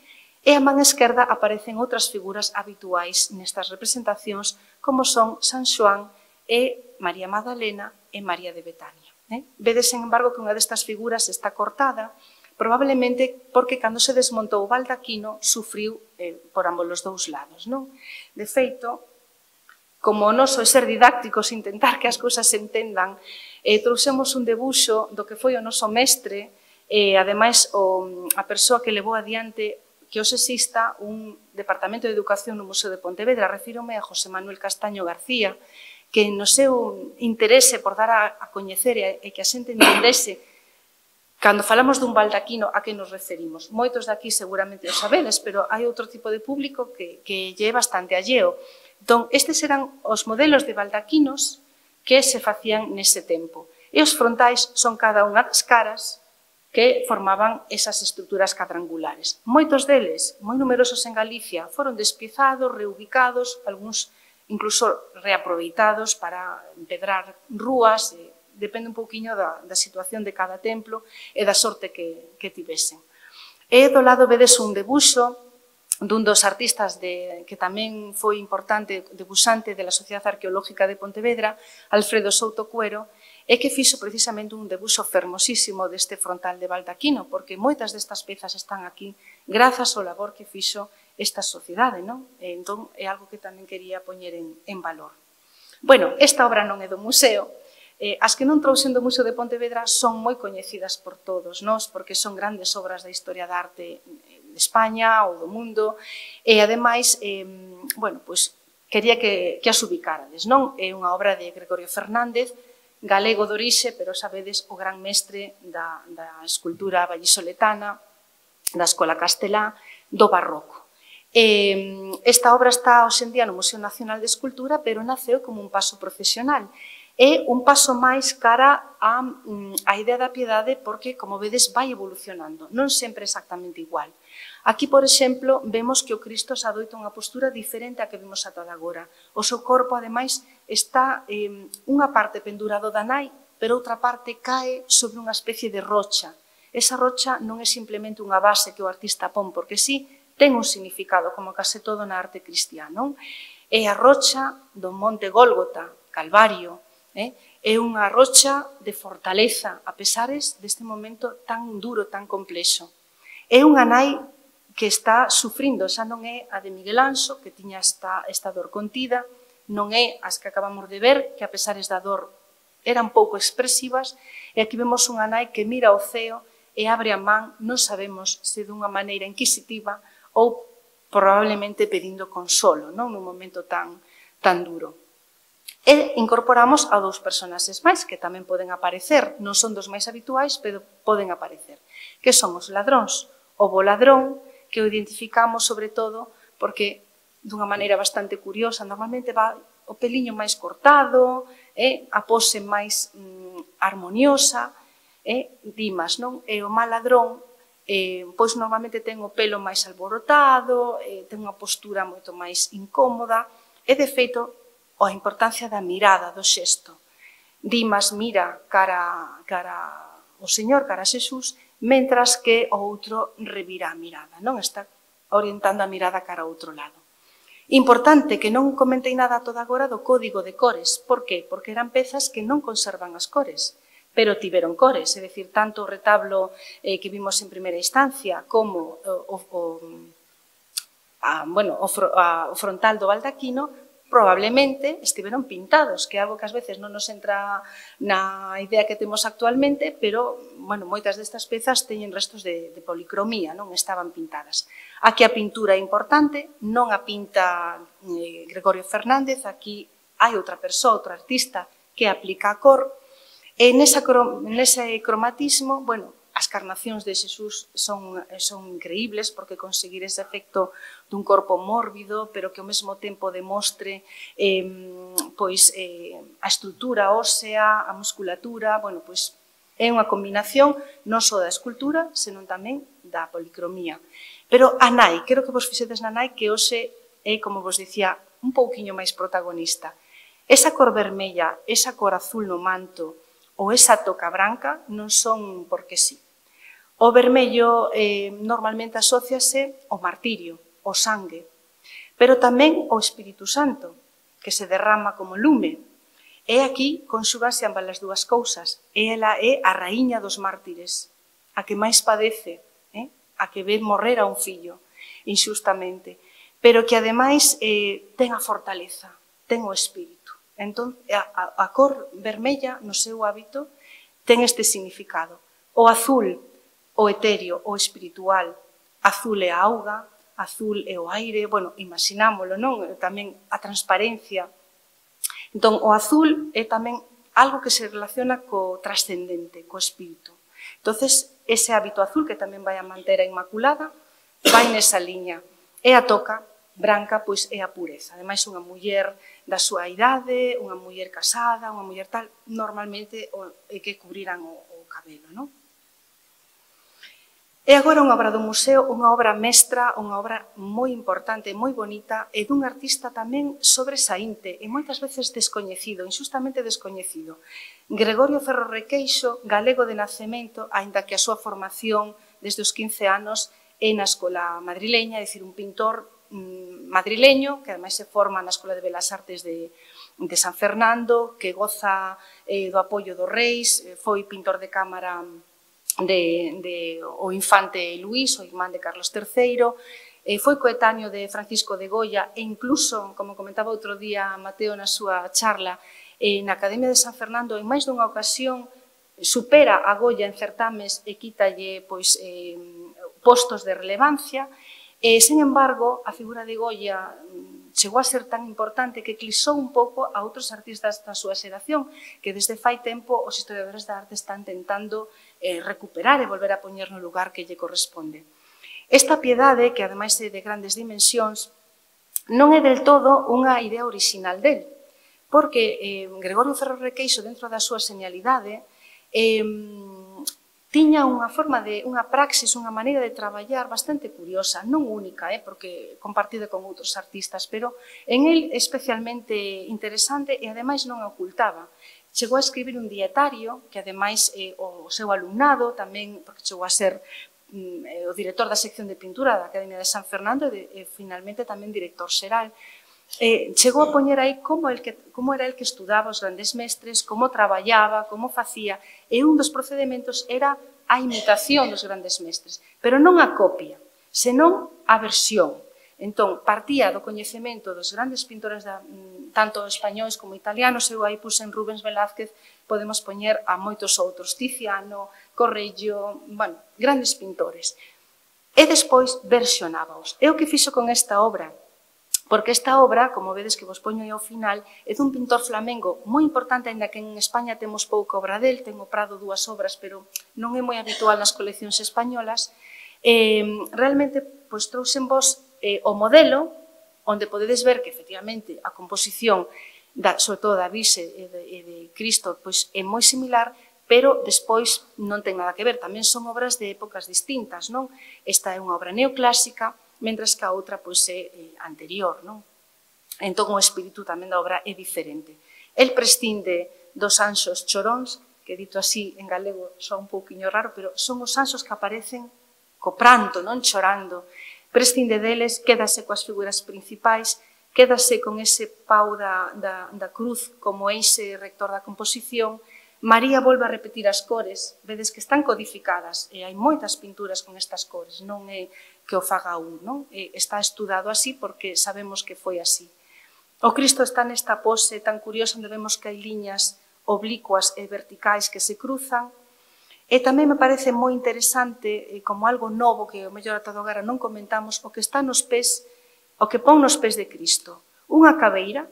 E a man esquerda aparecen outras figuras habituais nestas representacións, como son San Xoán e María Magdalena e María de Betania. Eh? Vedes, sen embargo, que unha destas figuras está cortada, probablemente porque cando se desmontou o baldaquino sufriu eh, por ambos os dous lados. Non? De feito, como o noso é ser didácticos, intentar que as cousas se entendan, eh, trouxemos un debuxo do que foi o noso mestre, e, ademais, o, a persoa que levou adiante que hoxe exista un Departamento de Educación no Museo de Pontevedra. Refírome a José Manuel Castaño García, que no seu interese por dar a, a coñecer e que a xente entendese cando falamos dun baldaquino a que nos referimos. Moitos daqui seguramente o sabedes, pero hai outro tipo de público que, que lle é bastante alleo. Entón, estes eran os modelos de baldaquinos que se facían nese tempo. E os frontais son cada unha das caras que formaban esas estruturas cadrangulares. Moitos deles, moi numerosos en Galicia, foron despiezados, reubicados, algúns incluso reaproveitados para empedrar rúas, eh, depende un pouquiño da, da situación de cada templo e da sorte que, que tivesen. E do lado vedes un debuxo dun dos artistas de, que tamén foi importante debuxante da Sociedade Arqueológica de Pontevedra, Alfredo Souto Cuero, e que fixo precisamente un debuxo fermosísimo deste frontal de baldaquino, porque moitas destas pezas están aquí grazas ao labor que fixo esta sociedade, non? E entón, é algo que tamén quería poñer en, en valor. Bueno, esta obra non é do museo. Eh, as que non trouxen do Museo de Pontevedra son moi coñecidas por todos nós, porque son grandes obras da historia da arte de España ou do mundo, e, ademais, eh, bueno, pois, quería que, que as ubicárades, non? É unha obra de Gregorio Fernández, galego de orixe, pero sabedes o gran mestre da, da escultura vallisoletana, da escola castelá, do barroco. Eh, esta obra está hoxe en día no Museo Nacional de Escultura, pero naceu como un paso procesional. É un paso máis cara a, a idea da piedade porque, como vedes, vai evolucionando, non sempre exactamente igual. Aquí, por exemplo, vemos que o Cristo se adoita unha postura diferente a que vimos ata agora. O seu corpo, ademais, está eh, unha parte pendurado da nai, pero outra parte cae sobre unha especie de rocha. Esa rocha non é simplemente unha base que o artista pon, porque sí, ten un significado, como case todo na arte cristiana. É a rocha do Monte Gólgota, Calvario, eh? É unha rocha de fortaleza, a pesares deste momento tan duro, tan complexo. É unha nai que está sufrindo, xa non é a de Miguel Anxo, que tiña esta, esta dor contida, non é as que acabamos de ver, que a pesares da dor eran pouco expresivas, e aquí vemos unha nai que mira ao ceo e abre a man, non sabemos se dunha maneira inquisitiva ou probablemente pedindo consolo, non? Nun momento tan, tan duro. E incorporamos a dous personaxes máis que tamén poden aparecer, non son dos máis habituais, pero poden aparecer, que son os ladróns. O bo ladrón, que o identificamos sobre todo porque, dunha maneira bastante curiosa, normalmente va o peliño máis cortado, eh, a pose máis mm, armoniosa, eh, Dimas, non? E o mal ladrón, eh, pois normalmente ten o pelo máis alborotado, eh, ten unha postura moito máis incómoda, e, de feito, a importancia da mirada, do xesto. Dimas mira cara, cara o Señor, cara a Xesús, mentras que o outro revira a mirada, non? Está orientando a mirada cara a outro lado. Importante que non comentei nada toda agora do código de cores. Por qué? Porque eran pezas que non conservan as cores, pero tiveron cores, é dicir, tanto o retablo eh, que vimos en primeira instancia como o, o, a, bueno, o, a, o frontal do baldaquino probablemente estiveron pintados, que é algo que ás veces non nos entra na idea que temos actualmente, pero, bueno, moitas destas pezas teñen restos de, de policromía, non estaban pintadas. Aquí a pintura é importante, non a pinta eh, Gregorio Fernández, aquí hai outra persoa, outro artista, que aplica a cor, E nesa, nese cromatismo, bueno, as carnacións de Xesús son, son increíbles porque conseguir ese efecto dun corpo mórbido, pero que ao mesmo tempo demostre eh, pois, eh, a estrutura ósea, a musculatura, bueno, pois é unha combinación non só da escultura, senón tamén da policromía. Pero a nai, quero que vos fixedes na nai que hoxe é, como vos dicía, un pouquiño máis protagonista. Esa cor vermella, esa cor azul no manto, ou esa toca branca non son porque sí. O vermello eh, normalmente asóciase ao martirio, ao sangue, pero tamén ao Espírito Santo, que se derrama como lume. E aquí conxugase ambas as dúas cousas. E ela é a raíña dos mártires, a que máis padece, eh? a que ve morrer a un fillo, inxustamente, pero que ademais eh, ten a fortaleza, ten o espírito. Entón, a, a cor vermella no seu hábito ten este significado. O azul, o etéreo, o espiritual, azul é a auga, azul é o aire, bueno, imaginámoslo, non? Tamén a transparencia. Entón, o azul é tamén algo que se relaciona co trascendente, co espírito. Entonces, ese hábito azul que tamén vai a manter a Inmaculada vai nesa liña. E a toca branca, pois é a pureza. Ademais, unha muller da súa idade, unha muller casada, unha muller tal, normalmente é que cubriran o, o cabelo, non? E agora unha obra do museo, unha obra mestra, unha obra moi importante, moi bonita, e dun artista tamén sobresaínte e moitas veces descoñecido, injustamente descoñecido. Gregorio Ferro Requeixo, galego de nacemento, aínda que a súa formación desde os quince anos é na escola madrileña, é dicir, un pintor madrileño, que ademais se forma na Escola de Belas Artes de, de San Fernando, que goza eh, do apoio dos reis, foi pintor de cámara de, de o infante Luís, o irmán de Carlos terceiro, eh, foi coetáneo de Francisco de Goya e incluso, como comentaba outro día Mateo na súa charla, eh, na Academia de San Fernando, en máis dunha ocasión, supera a Goya en certames e quítalle pois, eh, postos de relevancia. E, sen embargo, a figura de Goya chegou a ser tan importante que eclipsou un pouco a outros artistas da súa xeración, que desde fai tempo os historiadores da arte están tentando eh, recuperar e volver a poñer no lugar que lle corresponde. Esta piedade, que ademais é de grandes dimensións, non é del todo unha idea orixinal del, porque eh, Gregorio Ferro Requeixo, dentro da súa señalidade, eh, tiña unha forma de, unha praxis, unha maneira de traballar bastante curiosa, non única, eh, porque compartida con outros artistas, pero en el especialmente interesante e ademais non a ocultaba. Chegou a escribir un dietario, que ademais eh, o seu alumnado tamén, porque chegou a ser mm, o director da sección de pintura da Academia de San Fernando e, e finalmente tamén director xeral, Eh, chegou a poñer aí como, el que, como era el que estudaba os grandes mestres, como traballaba, como facía, e un dos procedementos era a imitación dos grandes mestres, pero non a copia, senón a versión. Entón, partía do coñecemento dos grandes pintores, da, tanto españois como italianos, eu aí puse en Rubens Velázquez, podemos poñer a moitos outros, Tiziano, Correggio, bueno, grandes pintores. E despois versionábaos. É o que fixo con esta obra, porque esta obra, como vedes que vos poño aí ao final, é dun pintor flamengo moi importante, ainda que en España temos pouca obra del, ten o Prado dúas obras, pero non é moi habitual nas coleccións españolas. Eh, realmente, pois, trouxen vos eh, o modelo, onde podedes ver que, efectivamente, a composición, da, sobre todo da Virxe e de, e de Cristo, pois, é moi similar, pero despois non ten nada que ver, tamén son obras de épocas distintas, non? Esta é unha obra neoclásica, mentras que a outra pois, é anterior. Non? Entón, o espírito tamén da obra é diferente. El prescinde dos anxos choróns, que dito así en galego soa un pouquiño raro, pero son os anxos que aparecen co pranto, non chorando. Prescinde deles, quédase coas figuras principais, quédase con ese pau da, da, da cruz como eixe rector da composición. María volve a repetir as cores, vedes que están codificadas, e hai moitas pinturas con estas cores, non é que o faga un, non? E está estudado así porque sabemos que foi así. O Cristo está nesta pose tan curiosa onde vemos que hai liñas oblicuas e verticais que se cruzan, e tamén me parece moi interesante, como algo novo que o mellor ata agora non comentamos, o que está nos pés, o que pon nos pés de Cristo. Unha cabeira,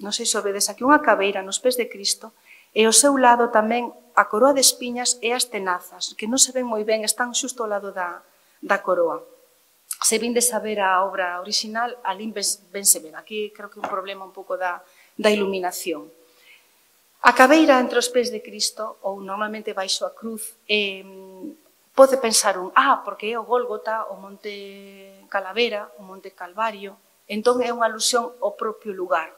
non sei se o vedes aquí, unha cabeira nos pés de Cristo, E ao seu lado tamén a coroa de espiñas e as tenazas, que non se ven moi ben, están xusto ao lado da, da coroa. Se vindes a ver a obra original, ali ben se ven. Aquí creo que é un problema un pouco da, da iluminación. A cabeira entre os pés de Cristo, ou normalmente baixo a cruz, eh, pode pensar un, ah, porque é o Gólgota, o Monte Calavera, o Monte Calvario, entón é unha alusión ao propio lugar.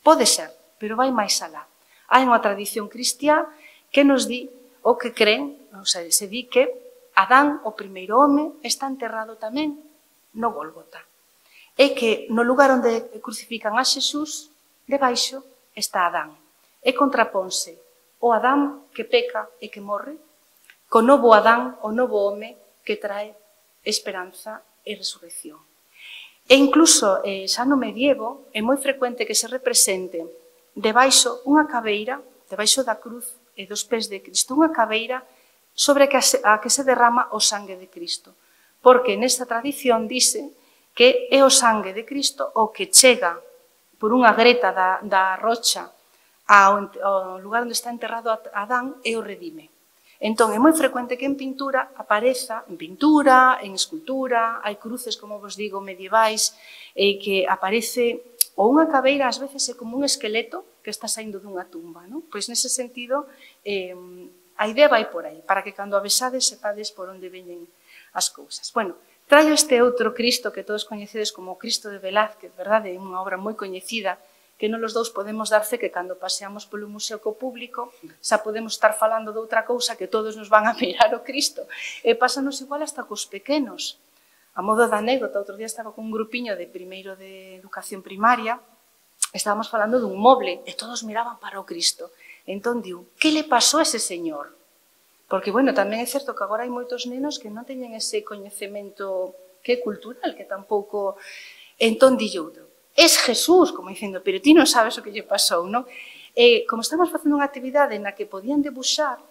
Pode ser, pero vai máis alá. Hai unha tradición cristiá que nos di, o que creen, ou sea, se di que Adán, o primeiro home, está enterrado tamén no Gólgota. E que no lugar onde crucifican a Xesús, debaixo está Adán. E contraponse o Adán que peca e que morre, co novo Adán, o novo home, que trae esperanza e resurrección. E incluso, eh, xa no medievo, é moi frecuente que se represente debaixo unha cabeira, debaixo da cruz e dos pés de Cristo, unha cabeira sobre a que se derrama o sangue de Cristo. Porque nesta tradición dice que é o sangue de Cristo o que chega por unha greta da, da rocha ao, ao lugar onde está enterrado Adán e o redime. Entón, é moi frecuente que en pintura apareza, en pintura, en escultura, hai cruces, como vos digo, medievais, e que aparece, ou unha cabeira, ás veces é como un esqueleto que está saindo dunha tumba, non? Pois nese sentido, eh, a idea vai por aí, para que cando a besades sepades por onde veñen as cousas. Bueno, traio este outro Cristo que todos coñecedes como o Cristo de Velázquez, verdade? É unha obra moi coñecida, que non os dous podemos dar fe que cando paseamos polo museo co público xa podemos estar falando de outra cousa que todos nos van a mirar o Cristo. E pásanos igual hasta cos pequenos. A modo da anécdota, outro día estaba con un grupiño de primeiro de educación primaria, estábamos falando dun moble e todos miraban para o Cristo. Entón diu, que le pasou a ese señor? Porque, bueno, tamén é certo que agora hai moitos nenos que non teñen ese coñecemento que é cultural, que tampouco... Entón di outro, es Jesús, como dicindo, pero ti non sabes o que lle pasou, non? E, como estamos facendo unha actividade na que podían debuxar,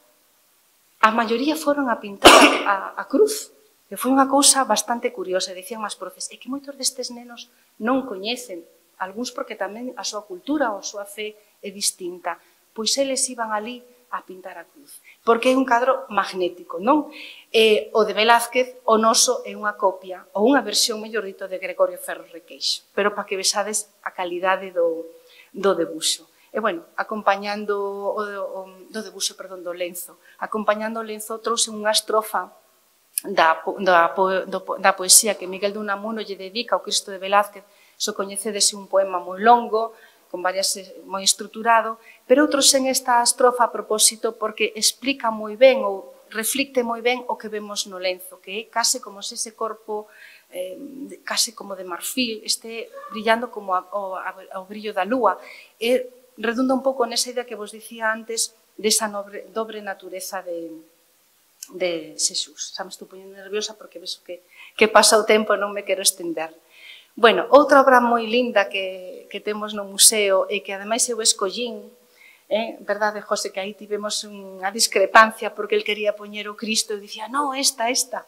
a maioría foron a pintar a, a cruz, que foi unha cousa bastante curiosa, dicían as profes, é que moitos destes nenos non coñecen, algúns porque tamén a súa cultura ou a súa fe é distinta, pois eles iban ali a pintar a cruz, porque é un cadro magnético, non? Eh, o de Velázquez, o noso é unha copia, ou unha versión, mellor dito, de Gregorio Ferro Requeixo, pero para que vexades a calidade do, do debuxo. E, bueno, acompañando o, o, do debuxo, perdón, do lenzo, acompañando o lenzo, trouxe unha estrofa da, da, da poesía que Miguel de Unamuno lle dedica ao Cristo de Velázquez. So coñecedes un poema moi longo, con varias, moi estruturado, pero outros en esta estrofa a propósito porque explica moi ben ou reflicte moi ben o que vemos no lenzo, que é case como se ese corpo, eh, case como de marfil, este brillando como a, o, ao brillo da lúa. E redunda un pouco nesa idea que vos dicía antes desa nobre, dobre natureza de, de Xesús. Xa me estou poñendo nerviosa porque vexo que, que pasa o tempo e non me quero estender. Bueno, outra obra moi linda que, que temos no museo e que ademais eu escollín, eh, verdade, José, que aí tivemos unha discrepancia porque el quería poñer o Cristo e dicía, no, esta, esta.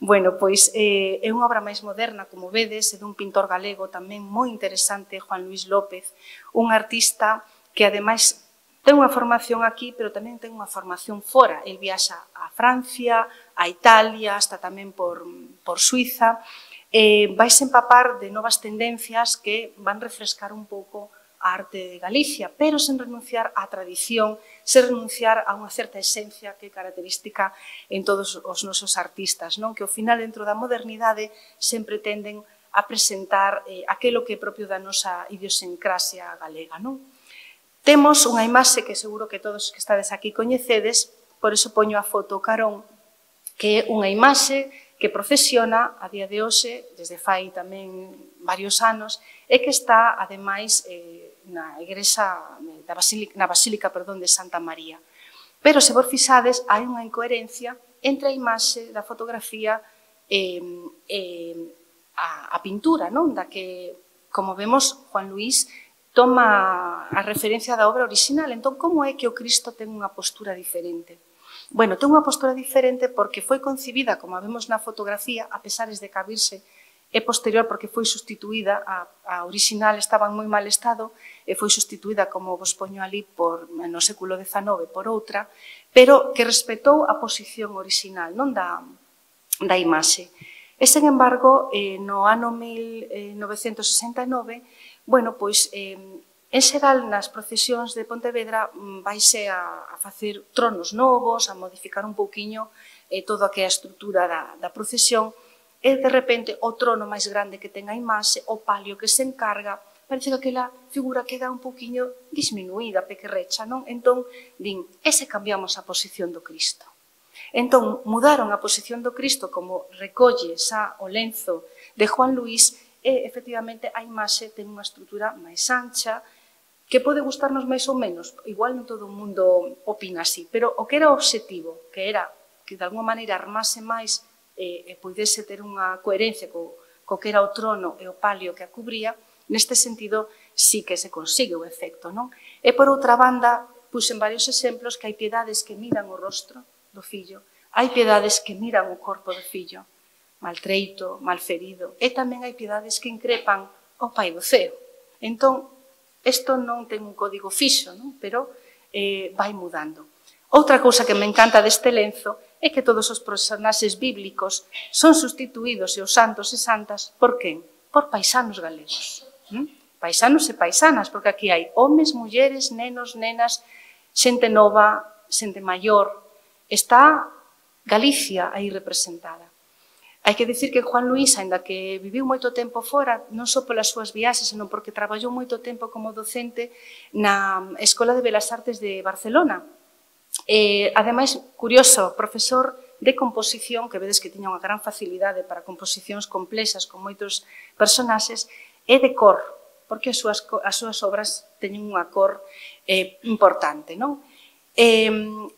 Bueno, pois eh, é unha obra máis moderna, como vedes, é dun pintor galego tamén moi interesante, Juan Luis López, un artista que ademais ten unha formación aquí, pero tamén ten unha formación fora. El viaxa a Francia, a Italia, hasta tamén por, por Suiza, eh, vais empapar de novas tendencias que van refrescar un pouco a arte de Galicia, pero sen renunciar á tradición, sen renunciar a unha certa esencia que é característica en todos os nosos artistas, non? Que ao final, dentro da modernidade, sempre tenden a presentar eh, aquilo que é propio da nosa idiosincrasia galega, non? Temos unha imaxe que seguro que todos que estades aquí coñecedes, por iso poño a foto carón, que é unha imaxe que procesiona a día de hoxe, desde fai tamén varios anos, e que está, ademais, eh, na igrexa, da Basílica, na Basílica perdón, de Santa María. Pero, se vos fixades, hai unha incoherencia entre a imaxe da fotografía e, e a, a pintura, non? Da que, como vemos, Juan Luis toma a referencia da obra original. Entón, como é que o Cristo ten unha postura diferente? Bueno, ten unha postura diferente porque foi concibida, como vemos na fotografía, a pesares de cabirse é posterior porque foi sustituída, a, a original estaba en moi mal estado, e foi sustituída, como vos poño ali, por, no século dezanove por outra, pero que respetou a posición original, non da, da imaxe. E, sen embargo, eh, no ano mil novecentos sesenta e nove, bueno, pois, eh, en xeral, nas procesións de Pontevedra vaise a, a facer tronos novos, a modificar un pouquiño eh, toda a que é a estrutura da, da procesión, e, de repente, o trono máis grande que ten a imaxe, o palio que se encarga, parece que aquela figura queda un pouquiño disminuída, pequerrecha, non? Entón, din, e se cambiamos a posición do Cristo? Entón, mudaron a posición do Cristo como recolle xa o lenzo de Juan Luis e, efectivamente, a imaxe ten unha estrutura máis ancha, que pode gustarnos máis ou menos, igual non todo o mundo opina así, pero o que era o obxectivo, que era que, de alguma maneira, armase máis e, e poidese ter unha coherencia co, co que era o trono e o palio que a cubría, neste sentido sí que se consigue o efecto, non? E, por outra banda, puxen varios exemplos que hai piedades que miran o rostro do fillo, hai piedades que miran o corpo do fillo, maltreito, malferido, e tamén hai piedades que increpan o Pai do ceo. Entón, isto non ten un código fixo, non? Pero eh, vai mudando. Outra cousa que me encanta deste lenzo é que todos os personaxes bíblicos son sustituídos e os santos e santas por quen? Por paisanos galegos. ¿Mm? Paisanos e paisanas, porque aquí hai homes, mulleres, nenos, nenas, xente nova, xente maior. Está Galicia aí representada. Hai que dicir que Juan Luis, aínda que viviu moito tempo fora, non só polas súas viaxes, senón porque traballou moito tempo como docente na Escola de Belas Artes de Barcelona. E, ademais, curioso, profesor de composición, que vedes que tiña unha gran facilidade para composicións complexas con moitos personaxes, e de cor, porque as súas, as súas obras teñen unha cor eh, importante, non? Eh,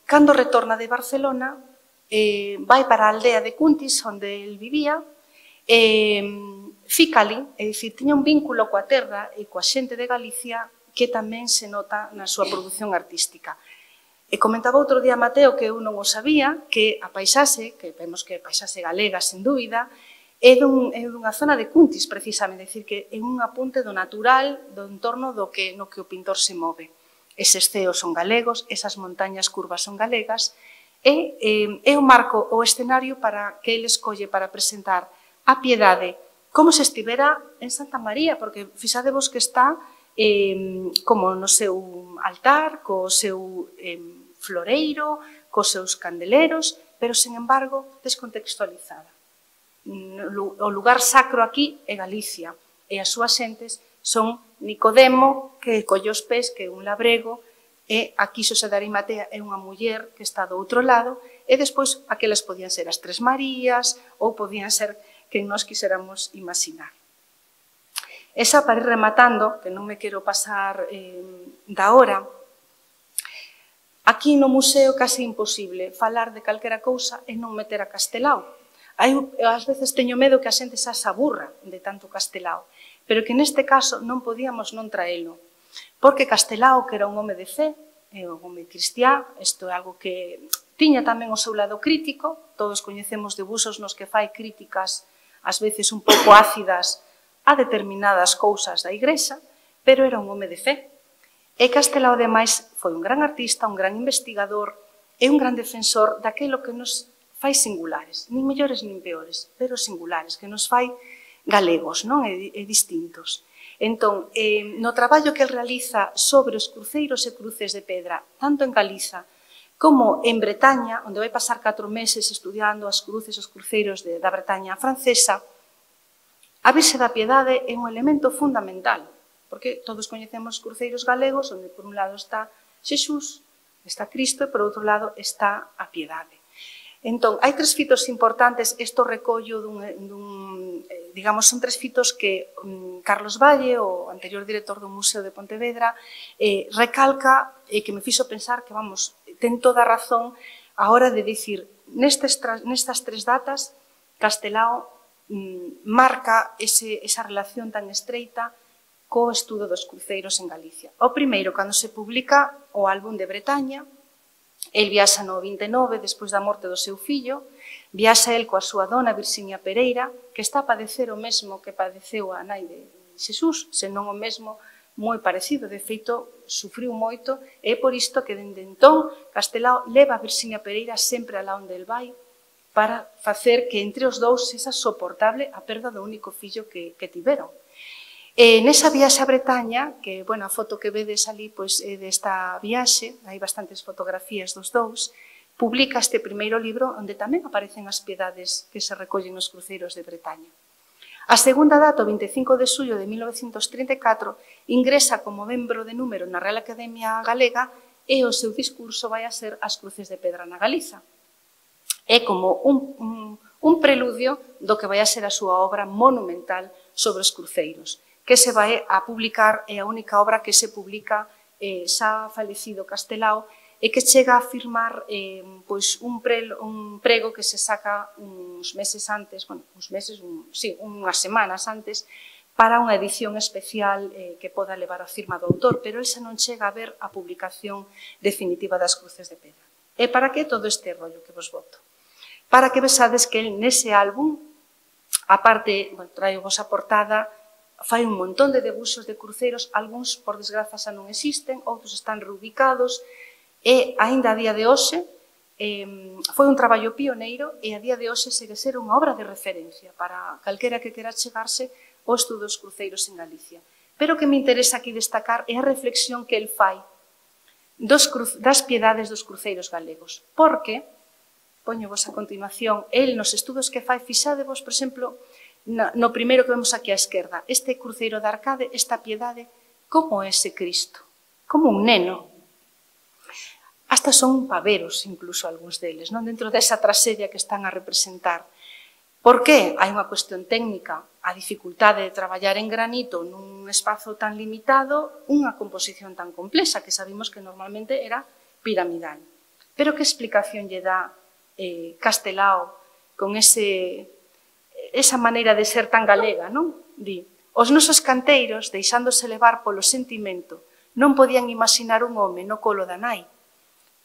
cando retorna de Barcelona, eh, vai para a aldea de Cuntis, onde el vivía, eh, fica ali, é dicir, tiña un vínculo coa terra e coa xente de Galicia que tamén se nota na súa produción artística. E comentaba outro día Mateo, que eu non o sabía, que a paisaxe, que vemos que é paisaxe galega, sen dúbida, é, dun, é dunha zona de Cuntis, precisamente, é dicir, que é un apunte do natural, do entorno do que, no que o pintor se move. Eses ceos son galegos, esas montañas curvas son galegas, e eh, é o marco, o escenario para que ele escolle para presentar a Piedade como se estivera en Santa María, porque fixadevos que está eh, como no seu altar, co seu eh, floreiro, cos seus candeleros, pero, sen embargo, descontextualizada. O lugar sacro aquí é Galicia, e as súas xentes son Nicodemo, que colle os pés, que é un labrego, e aquí Xosé de Arimatea é unha muller que está do outro lado, e despois aquelas podían ser as Tres Marías, ou podían ser quen nós quixéramos imaginar. Esa, para ir rematando, que non me quero pasar eh, da hora, aquí no museo case imposible falar de calquera cousa e non meter a Castelao. Hai, ás veces teño medo que a xente xa se aburra de tanto Castelao, pero que neste caso non podíamos non traelo, porque Castelao, que era un home de fe, é un home cristiá, isto é algo que tiña tamén o seu lado crítico, todos coñecemos debuxos nos que fai críticas, ás veces un pouco ácidas, a determinadas cousas da Igrexa, pero era un home de fe. E Castelao, ademais, foi un gran artista, un gran investigador e un gran defensor daquilo que nos fai singulares, nin mellores nin peores, pero singulares, que nos fai galegos, non? E, e distintos. Entón, eh, no traballo que el realiza sobre os cruceiros e cruces de pedra, tanto en Galiza como en Bretaña, onde vai pasar catro meses estudiando as cruces e os cruceiros de, da Bretaña francesa, a Virxe da Piedade é un elemento fundamental, porque todos coñecemos cruceiros galegos, onde por un lado está Xesús, está Cristo, e por outro lado está a Piedade. Entón, hai tres fitos importantes, isto recollo dun, dun digamos, son tres fitos que um, Carlos Valle, o anterior director do Museo de Pontevedra, eh, recalca e que me fixo pensar que, vamos, ten toda a razón a hora de dicir, nestes, nestas tres datas, Castelao mm, marca ese, esa relación tan estreita co estudo dos cruceiros en Galicia. O primeiro, cando se publica o álbum de Bretaña, el viaxa no vinte e nove, despois da morte do seu fillo, Viaxa el coa súa dona Virxinia Pereira, que está a padecer o mesmo que padeceu a nai de Xesús, senón o mesmo moi parecido. De feito, sufriu moito, e é por isto que, dende entón, Castelao leva a Virxinia Pereira sempre alá onde el vai, para facer que entre os dous sexa soportable a perda do único fillo que, que tiveron. E nesa viaxe a Bretaña, que, bueno, a foto que vedes ali, pois, é desta viaxe, hai bastantes fotografías dos dous, publica este primeiro libro onde tamén aparecen as piedades que se recollen nos cruceiros de Bretaña. A segunda data, o vinte e cinco de xullo de mil novecentos trinta e catro, ingresa como membro de número na Real Academia Galega e o seu discurso vai a ser As cruces de pedra na Galiza. É como un, un, un preludio do que vai a ser a súa obra monumental sobre os cruceiros, que se vai a publicar, é a única obra que se publica eh, xa falecido Castelao, e que chega a firmar eh, pois un, pre, un prego que se saca uns meses antes, bueno, uns meses, un, sí, unhas semanas antes, para unha edición especial eh, que poda levar a firma do autor, pero el xa non chega a ver a publicación definitiva das cruces de pedra. E para que todo este rollo que vos boto? Para que vesades que el nese álbum, aparte, bueno, traio vos a portada, fai un montón de debuxos de cruceros, algúns, por desgraza, xa non existen, outros están reubicados, e, aínda a día de hoxe, eh, foi un traballo pioneiro e a día de hoxe segue ser unha obra de referencia para calquera que quera chegarse ao estudo dos cruceiros en Galicia. Pero o que me interesa aquí destacar é a reflexión que el fai dos cru, das piedades dos cruceiros galegos, porque, poñovos a continuación, el nos estudos que fai, fixadevos, por exemplo, no, no primeiro que vemos aquí á esquerda, este cruceiro de Arcade, esta piedade, como é ese Cristo, como un neno. Hasta son paveros, incluso, algúns deles, non dentro desa traxedia que están a representar. Por que? Hai unha cuestión técnica, a dificultade de traballar en granito nun espazo tan limitado, unha composición tan complexa, que sabemos que normalmente era piramidal. Pero que explicación lle dá eh, Castelao con ese, esa maneira de ser tan galega, non? Di, os nosos canteiros, deixándose levar polo sentimento, non podían imaginar un home no colo da nai.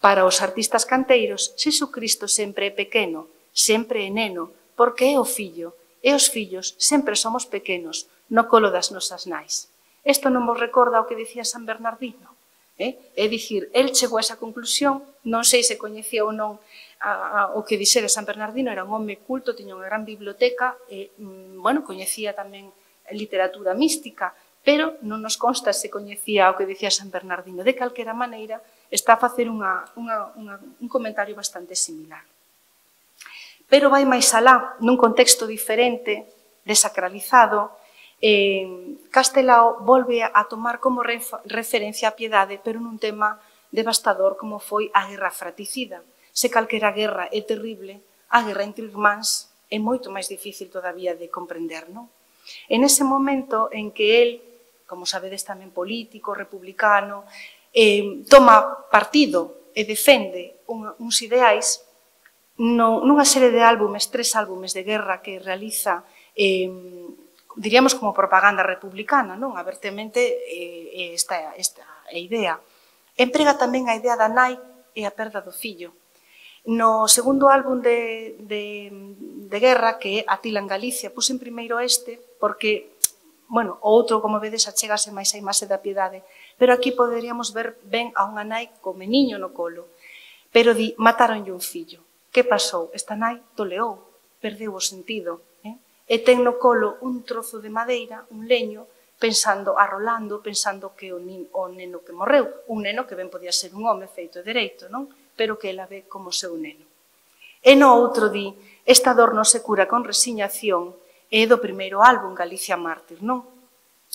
Para os artistas canteiros, Xesucristo sempre é pequeno, sempre é neno, porque é o fillo, e os fillos sempre somos pequenos no colo das nosas nais. Isto non vos recorda o que dicía San Bernardino? Eh? É dicir, el chegou a esa conclusión, non sei se coñecía ou non a, a, o que dixera San Bernardino, era un home culto, tiña unha gran biblioteca, e, mm, bueno, coñecía tamén literatura mística, pero non nos consta se coñecía o que dicía San Bernardino. De calquera maneira, está a facer unha, unha, unha, un comentario bastante similar. Pero vai máis alá, nun contexto diferente, desacralizado, eh, Castelao volve a tomar como referencia a piedade, pero nun tema devastador como foi a guerra fratricida. Se calquera guerra é terrible, a guerra entre irmáns é moito máis difícil todavía de comprender, non? En ese momento en que el, como sabedes tamén político, republicano, eh, toma partido e defende un, uns ideais, no, nunha serie de álbumes, tres álbumes de guerra que realiza, eh, diríamos como propaganda republicana, non? Abertamente eh, esta, esta idea. Emprega tamén a idea da nai e a perda do fillo. No segundo álbum de, de, de guerra, que é Atila en Galicia, puse en primeiro este, porque, bueno, o outro, como vedes, achegase máis a imaxe da piedade, pero aquí poderíamos ver ben a unha nai co meniño no colo, pero di, mataronlle un fillo. Que pasou? Esta nai toleou, perdeu o sentido, eh? E ten no colo un trozo de madeira, un leño, pensando, arrolando, pensando que o, nin, o neno que morreu, un neno que ben podía ser un home feito e dereito, non? Pero que ela ve como seu neno. E no outro di, esta dor non se cura con resignación, é do primeiro álbum, Galicia Mártir, non?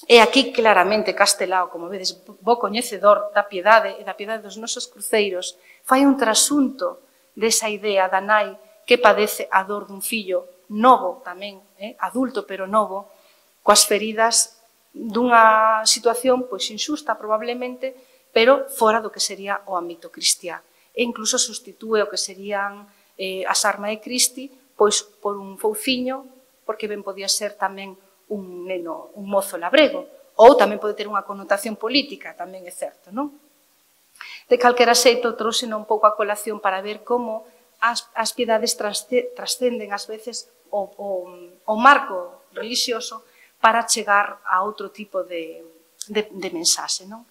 E aquí claramente Castelao, como vedes, bo coñecedor da piedade e da piedade dos nosos cruceiros, fai un trasunto desa idea da nai que padece a dor dun fillo novo tamén, eh, adulto pero novo, coas feridas dunha situación pois injusta probablemente, pero fora do que sería o ámbito cristiá. E incluso sustitúe o que serían eh, as armas de Cristi pois por un fouciño, porque ben podía ser tamén un neno, un mozo labrego, ou tamén pode ter unha connotación política, tamén é certo, non? De calquera xeito, trouxeno un pouco a colación para ver como as, as piedades trascenden ás veces o, o, o marco religioso para chegar a outro tipo de, de, de mensaxe. Non?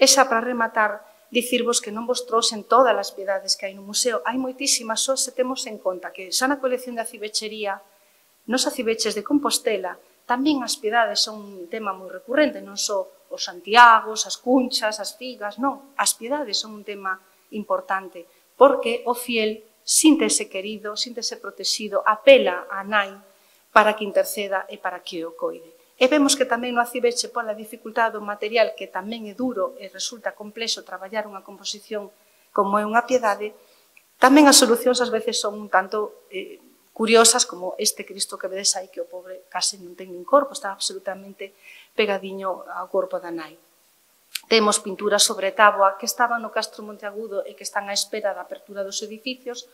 Esa, para rematar, dicirvos que non vos trouxen todas as piedades que hai no museo. Hai moitísimas, só se temos en conta que xa na colección de acivechería, nos aciveches de Compostela, tamén as piedades son un tema moi recurrente, non só os Santiagos, as cunchas, as figas, non. As piedades son un tema importante, porque o fiel síntese querido, síntese protegido, apela a nai para que interceda e para que o coide. E vemos que tamén no aciveche pola dificultade do material, que tamén é duro e resulta complexo traballar unha composición como é unha piedade, tamén as solucións ás veces son un tanto eh, curiosas, como este Cristo que vedes aí, que o pobre case non ten nin corpo, está absolutamente pegadiño ao corpo da nai. Temos pinturas sobre táboa que estaban no Castro Monteagudo e que están á espera da apertura dos edificios,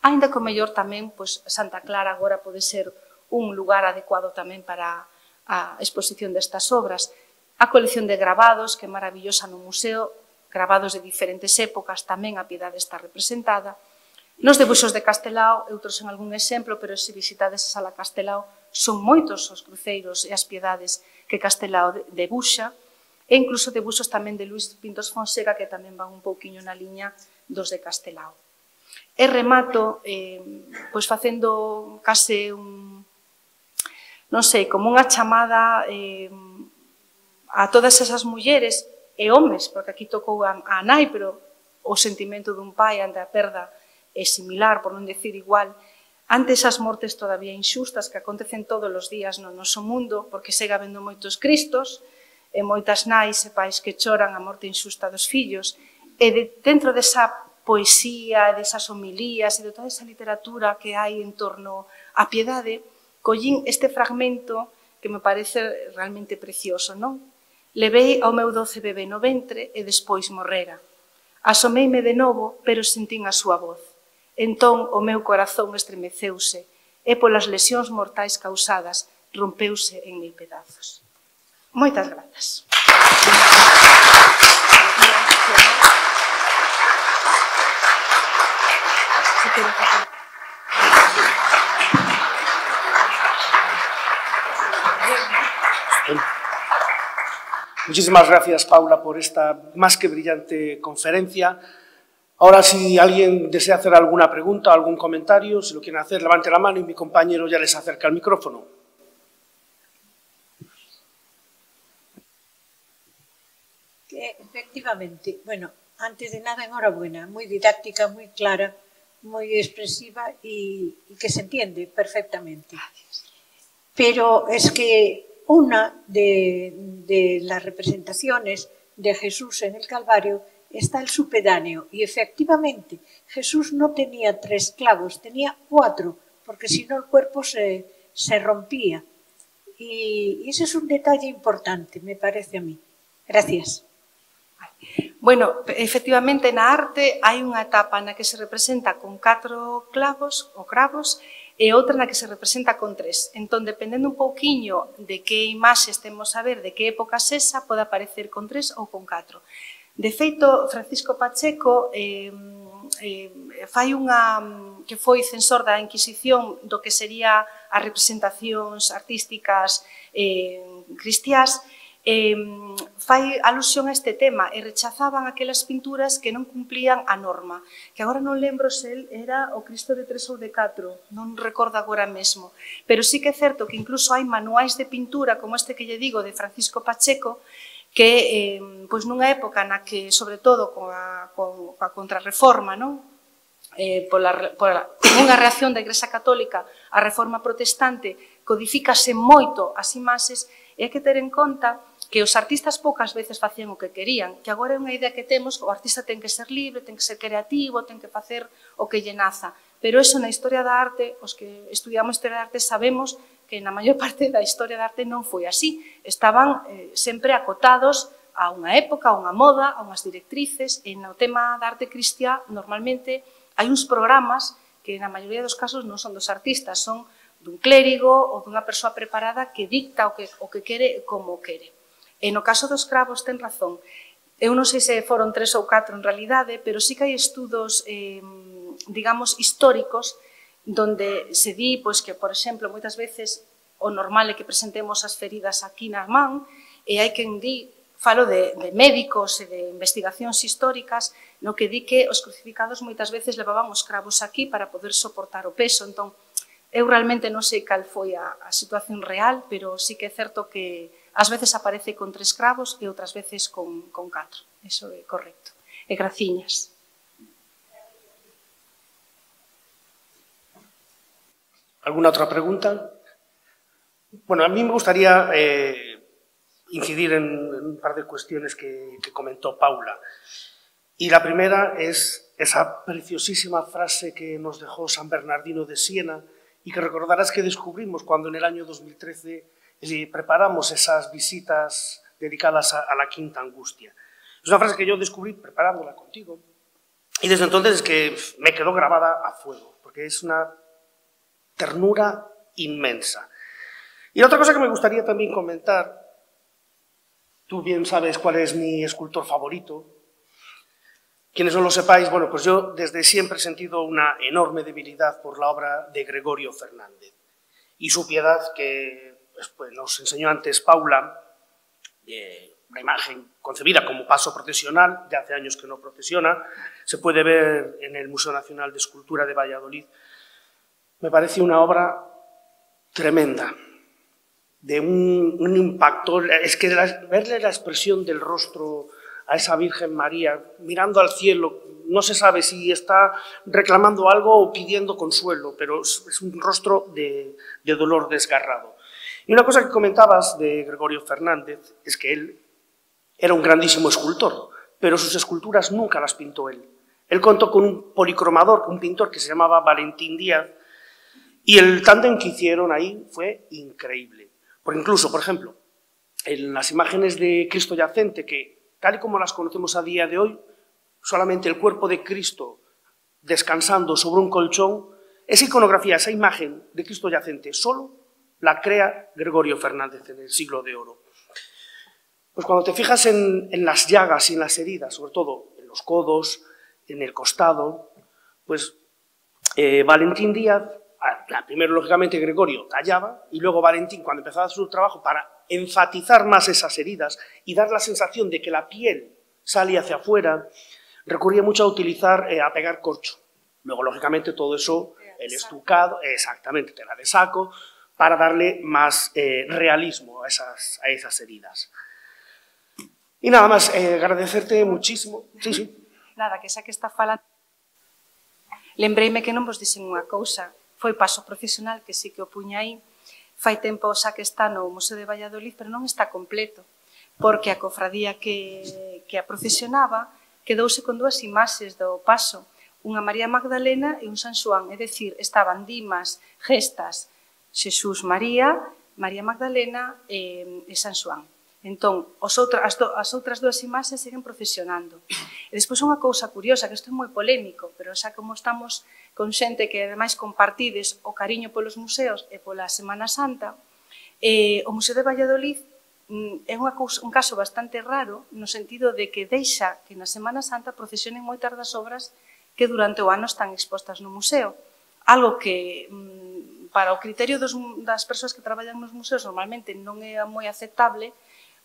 aínda que o mellor tamén, pois, Santa Clara agora pode ser un lugar adecuado tamén para a exposición destas obras. A colección de gravados, que é maravillosa no museo, gravados de diferentes épocas, tamén a piedade está representada. Nos debuxos de Castelao, eu trouxen algún exemplo, pero se visitades a Sala Castelao, son moitos os cruceiros e as piedades que Castelao debuxa, e incluso debuxos tamén de Luis Pintos Fonseca, que tamén van un pouquiño na liña dos de Castelao. E remato, eh, pois facendo case un, non sei, como unha chamada eh, a todas esas mulleres e homes, porque aquí tocou a, a nai, pero o sentimento dun pai ante a perda é similar, por non decir igual, ante esas mortes todavía inxustas que acontecen todos os días no noso mundo, porque segue habendo moitos cristos, e moitas nais e pais que choran a morte inxusta dos fillos, e de, dentro desa poesía, desas homilías e de toda esa literatura que hai en torno á piedade, collín este fragmento que me parece realmente precioso, non? Levei ao meu doce bebé no ventre e despois morrera. Asomeime de novo, pero sentín a súa voz. Entón o meu corazón estremeceuse e polas lesións mortais causadas rompeuse en mil pedazos. Moitas grazas. Muchísimas gracias, Paula, por esta más que brillante conferencia. Ahora, si alguien desea hacer alguna pregunta, algún comentario, si lo quieren hacer, levante la mano y mi compañero ya les acerca el micrófono. Efectivamente, bueno, antes de nada, enhorabuena, moi didáctica, moi clara, moi expresiva e, e que se entiende perfectamente. Pero es que una de, de las representaciones de Jesús en el Calvario está el supedáneo y efectivamente Jesús no tenía tres clavos, tenía cuatro, porque si no el cuerpo se, se rompía. Y, y ese es un detalle importante, me parece a mí. Gracias. Bueno, efectivamente, na arte hai unha etapa na que se representa con catro clavos ou cravos e outra na que se representa con tres. Entón, dependendo un pouquiño de que imaxe estemos a ver, de que época sesa, pode aparecer con tres ou con catro. De feito, Francisco Pacheco eh, eh, fai unha que foi censor da Inquisición do que sería as representacións artísticas eh, cristiás, Eh, fai alusión a este tema e rechazaban aquelas pinturas que non cumplían a norma, que agora non lembro se el era o Cristo de tres ou de catro, non recordo agora mesmo, pero sí que é certo que incluso hai manuais de pintura como este que lle digo de Francisco Pacheco, que eh, pois nunha época na que, sobre todo coa, coa contrarreforma, non? Eh, pola, pola, unha reacción da Igrexa Católica á reforma protestante, codifícase moito as imaxes, e hai que ter en conta que os artistas poucas veces facían o que querían, que agora é unha idea que temos, o artista ten que ser libre, ten que ser creativo, ten que facer o que lle naza. Pero eso na historia da arte, os que estudiamos historia da arte sabemos que na maior parte da historia da arte non foi así. Estaban eh, sempre acotados a unha época, a unha moda, a unhas directrices, e no tema da arte cristiá normalmente hai uns programas que na maioría dos casos non son dos artistas, son dun clérigo ou dunha persoa preparada que dicta o que, o que quere e como o quere. E no caso dos cravos ten razón. Eu non sei se foron tres ou catro en realidade, pero sí que hai estudos eh, digamos, históricos, donde se di pois, que, por exemplo, moitas veces o normal é que presentemos as feridas aquí na man, e hai quen di, falo de, de médicos e de investigacións históricas, no que di que os crucificados moitas veces levaban os cravos aquí para poder soportar o peso. Entón, eu realmente non sei cal foi a, a situación real, pero sí que é certo que ás veces aparece con tres cravos e outras veces con, con catro. Eso é correcto. E graciñas. ¿Alguna otra pregunta? Bueno, a mí me gustaría eh, incidir en, en un par de cuestiones que, que comentó Paula. Y la primera es esa preciosísima frase que nos dejó San Bernardino de Siena y que recordarás que descubrimos cuando en el año dos mil trece eh, preparamos esas visitas dedicadas a, a la Quinta Angustia. Es una frase que yo descubrí preparándola contigo y desde entonces es que me quedó grabada a fuego, porque es una ternura inmensa. Y otra cosa que me gustaría también comentar, tú bien sabes cuál es mi escultor favorito. Quienes no lo sepáis, bueno, pues yo desde siempre he sentido una enorme debilidad por la obra de Gregorio Fernández y su piedad que pues, pues, nos enseñó antes Paula, eh, una imagen concebida como paso procesional, de hace años que no procesiona, se puede ver en el Museo Nacional de Escultura de Valladolid. Me parece una obra tremenda, de un, un impacto, es que la, verle la expresión del rostro a esa Virgen María, mirando al cielo, no se sabe si está reclamando algo o pidiendo consuelo, pero es, es un rostro de, de dolor desgarrado. Y una cosa que comentabas de Gregorio Fernández es que él era un grandísimo escultor, pero sus esculturas nunca las pintó él. Él contó con un policromador, un pintor que se llamaba Valentín Díaz, y el tándem que hicieron ahí fue increíble. Porque incluso, por ejemplo, en las imágenes de Cristo yacente, que tal y como las conocemos a día de hoy, solamente el cuerpo de Cristo descansando sobre un colchón, esa iconografía, esa imagen de Cristo yacente, solo la crea Gregorio Fernández en el siglo de oro. Pues cuando te fijas en, en las llagas y en las heridas, sobre todo en los codos, en el costado, pues eh, Valentín Díaz, primero lógicamente Gregorio tallaba y luego Valentín, cuando empezaba su trabajo para enfatizar más esas heridas y dar la sensación de que la piel salía hacia afuera, recurría mucho a utilizar, eh, a pegar corcho. Luego, lógicamente, todo eso, el estucado, exactamente, tela de saco, para darle más eh, realismo a esas, a esas heridas. Y nada más, eh, agradecerte muchísimo. Sí, sí. Nada, que xa que está falando. Lembreime que non vos dixen unha cousa, foi paso procesional, que sí que o puña aí, fai tempo xa que está no Museo de Valladolid, pero non está completo, porque a cofradía que, que a procesionaba quedouse con dúas imaxes do paso, unha María Magdalena e un San Xoán, é dicir, estaban Dimas, Gestas, Xesús María, María Magdalena e, e San Xoán. Entón, os outra, as, do, as outras dúas imaxes seguen procesionando. E despois unha cousa curiosa, que isto é moi polémico, pero xa como estamos con xente que ademais compartides o cariño polos museos e pola Semana Santa, eh, o Museo de Valladolid mm, é unha cousa, un caso bastante raro no sentido de que deixa que na Semana Santa procesionen moitas das obras que durante o ano están expostas no museo. Algo que mm, para o criterio dos, das persoas que traballan nos museos normalmente non é moi aceptable,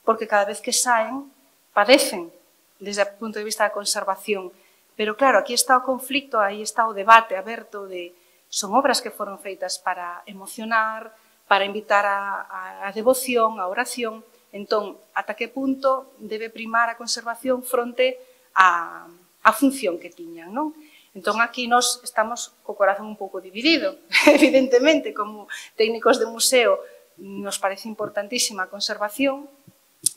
porque cada vez que saen, padecen desde o punto de vista da conservación. Pero claro, aquí está o conflicto, aí está o debate aberto de son obras que foron feitas para emocionar, para invitar a, a, a devoción, a oración. Entón, ata que punto debe primar a conservación fronte a, a función que tiñan, non? Entón, aquí nós estamos co corazón un pouco dividido. Evidentemente, como técnicos de museo, nos parece importantísima a conservación,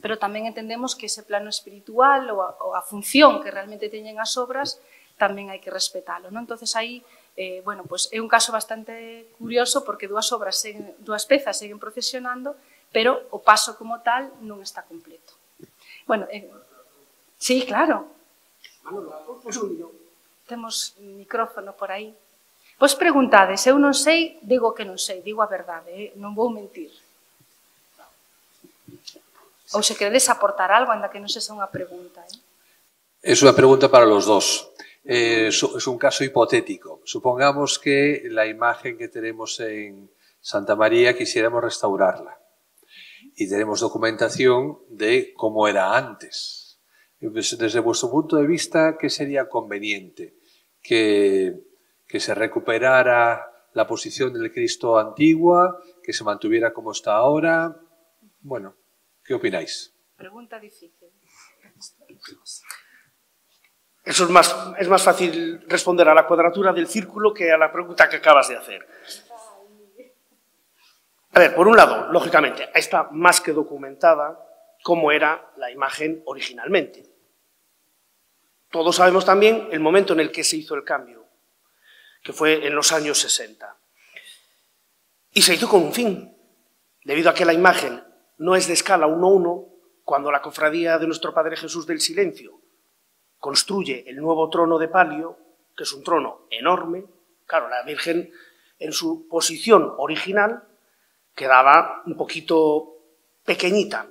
pero tamén entendemos que ese plano espiritual ou a, ou a función que realmente teñen as obras tamén hai que respetalo, non? Entonces aí, eh, bueno, pues é un caso bastante curioso porque dúas obras, seguen, dúas pezas seguen procesionando, pero o paso como tal non está completo. Bueno, eh, sí, claro. Temos micrófono por aí. Vos preguntades, eu non sei, digo que non sei, digo a verdade, eh? Non vou mentir. Ou se queredes aportar algo, anda que non sexa unha pregunta. ¿eh? Es una pregunta para los dos. Eh, es un caso hipotético. Supongamos que la imagen que tenemos en Santa María quisiéramos restaurarla y tenemos documentación de cómo era antes. Desde vuestro punto de vista, ¿qué sería conveniente? ¿Que, que se recuperara la posición del Cristo antigua, que se mantuviera como está ahora? Bueno, ¿qué opináis? Pregunta difícil. Eso es más, es más fácil responder a la cuadratura del círculo que a la pregunta que acabas de hacer. A ver, por un lado, lógicamente, está más que documentada cómo era la imagen originalmente. Todos sabemos también el momento en el que se hizo el cambio, que fue en los años sesenta. Y se hizo con un fin, debido a que la imagen no es de escala uno a uno, cuando la cofradía de nuestro Padre Jesús del Silencio construye el nuevo trono de palio, que es un trono enorme. Claro, la Virgen en su posición original quedaba un poquito pequeñita.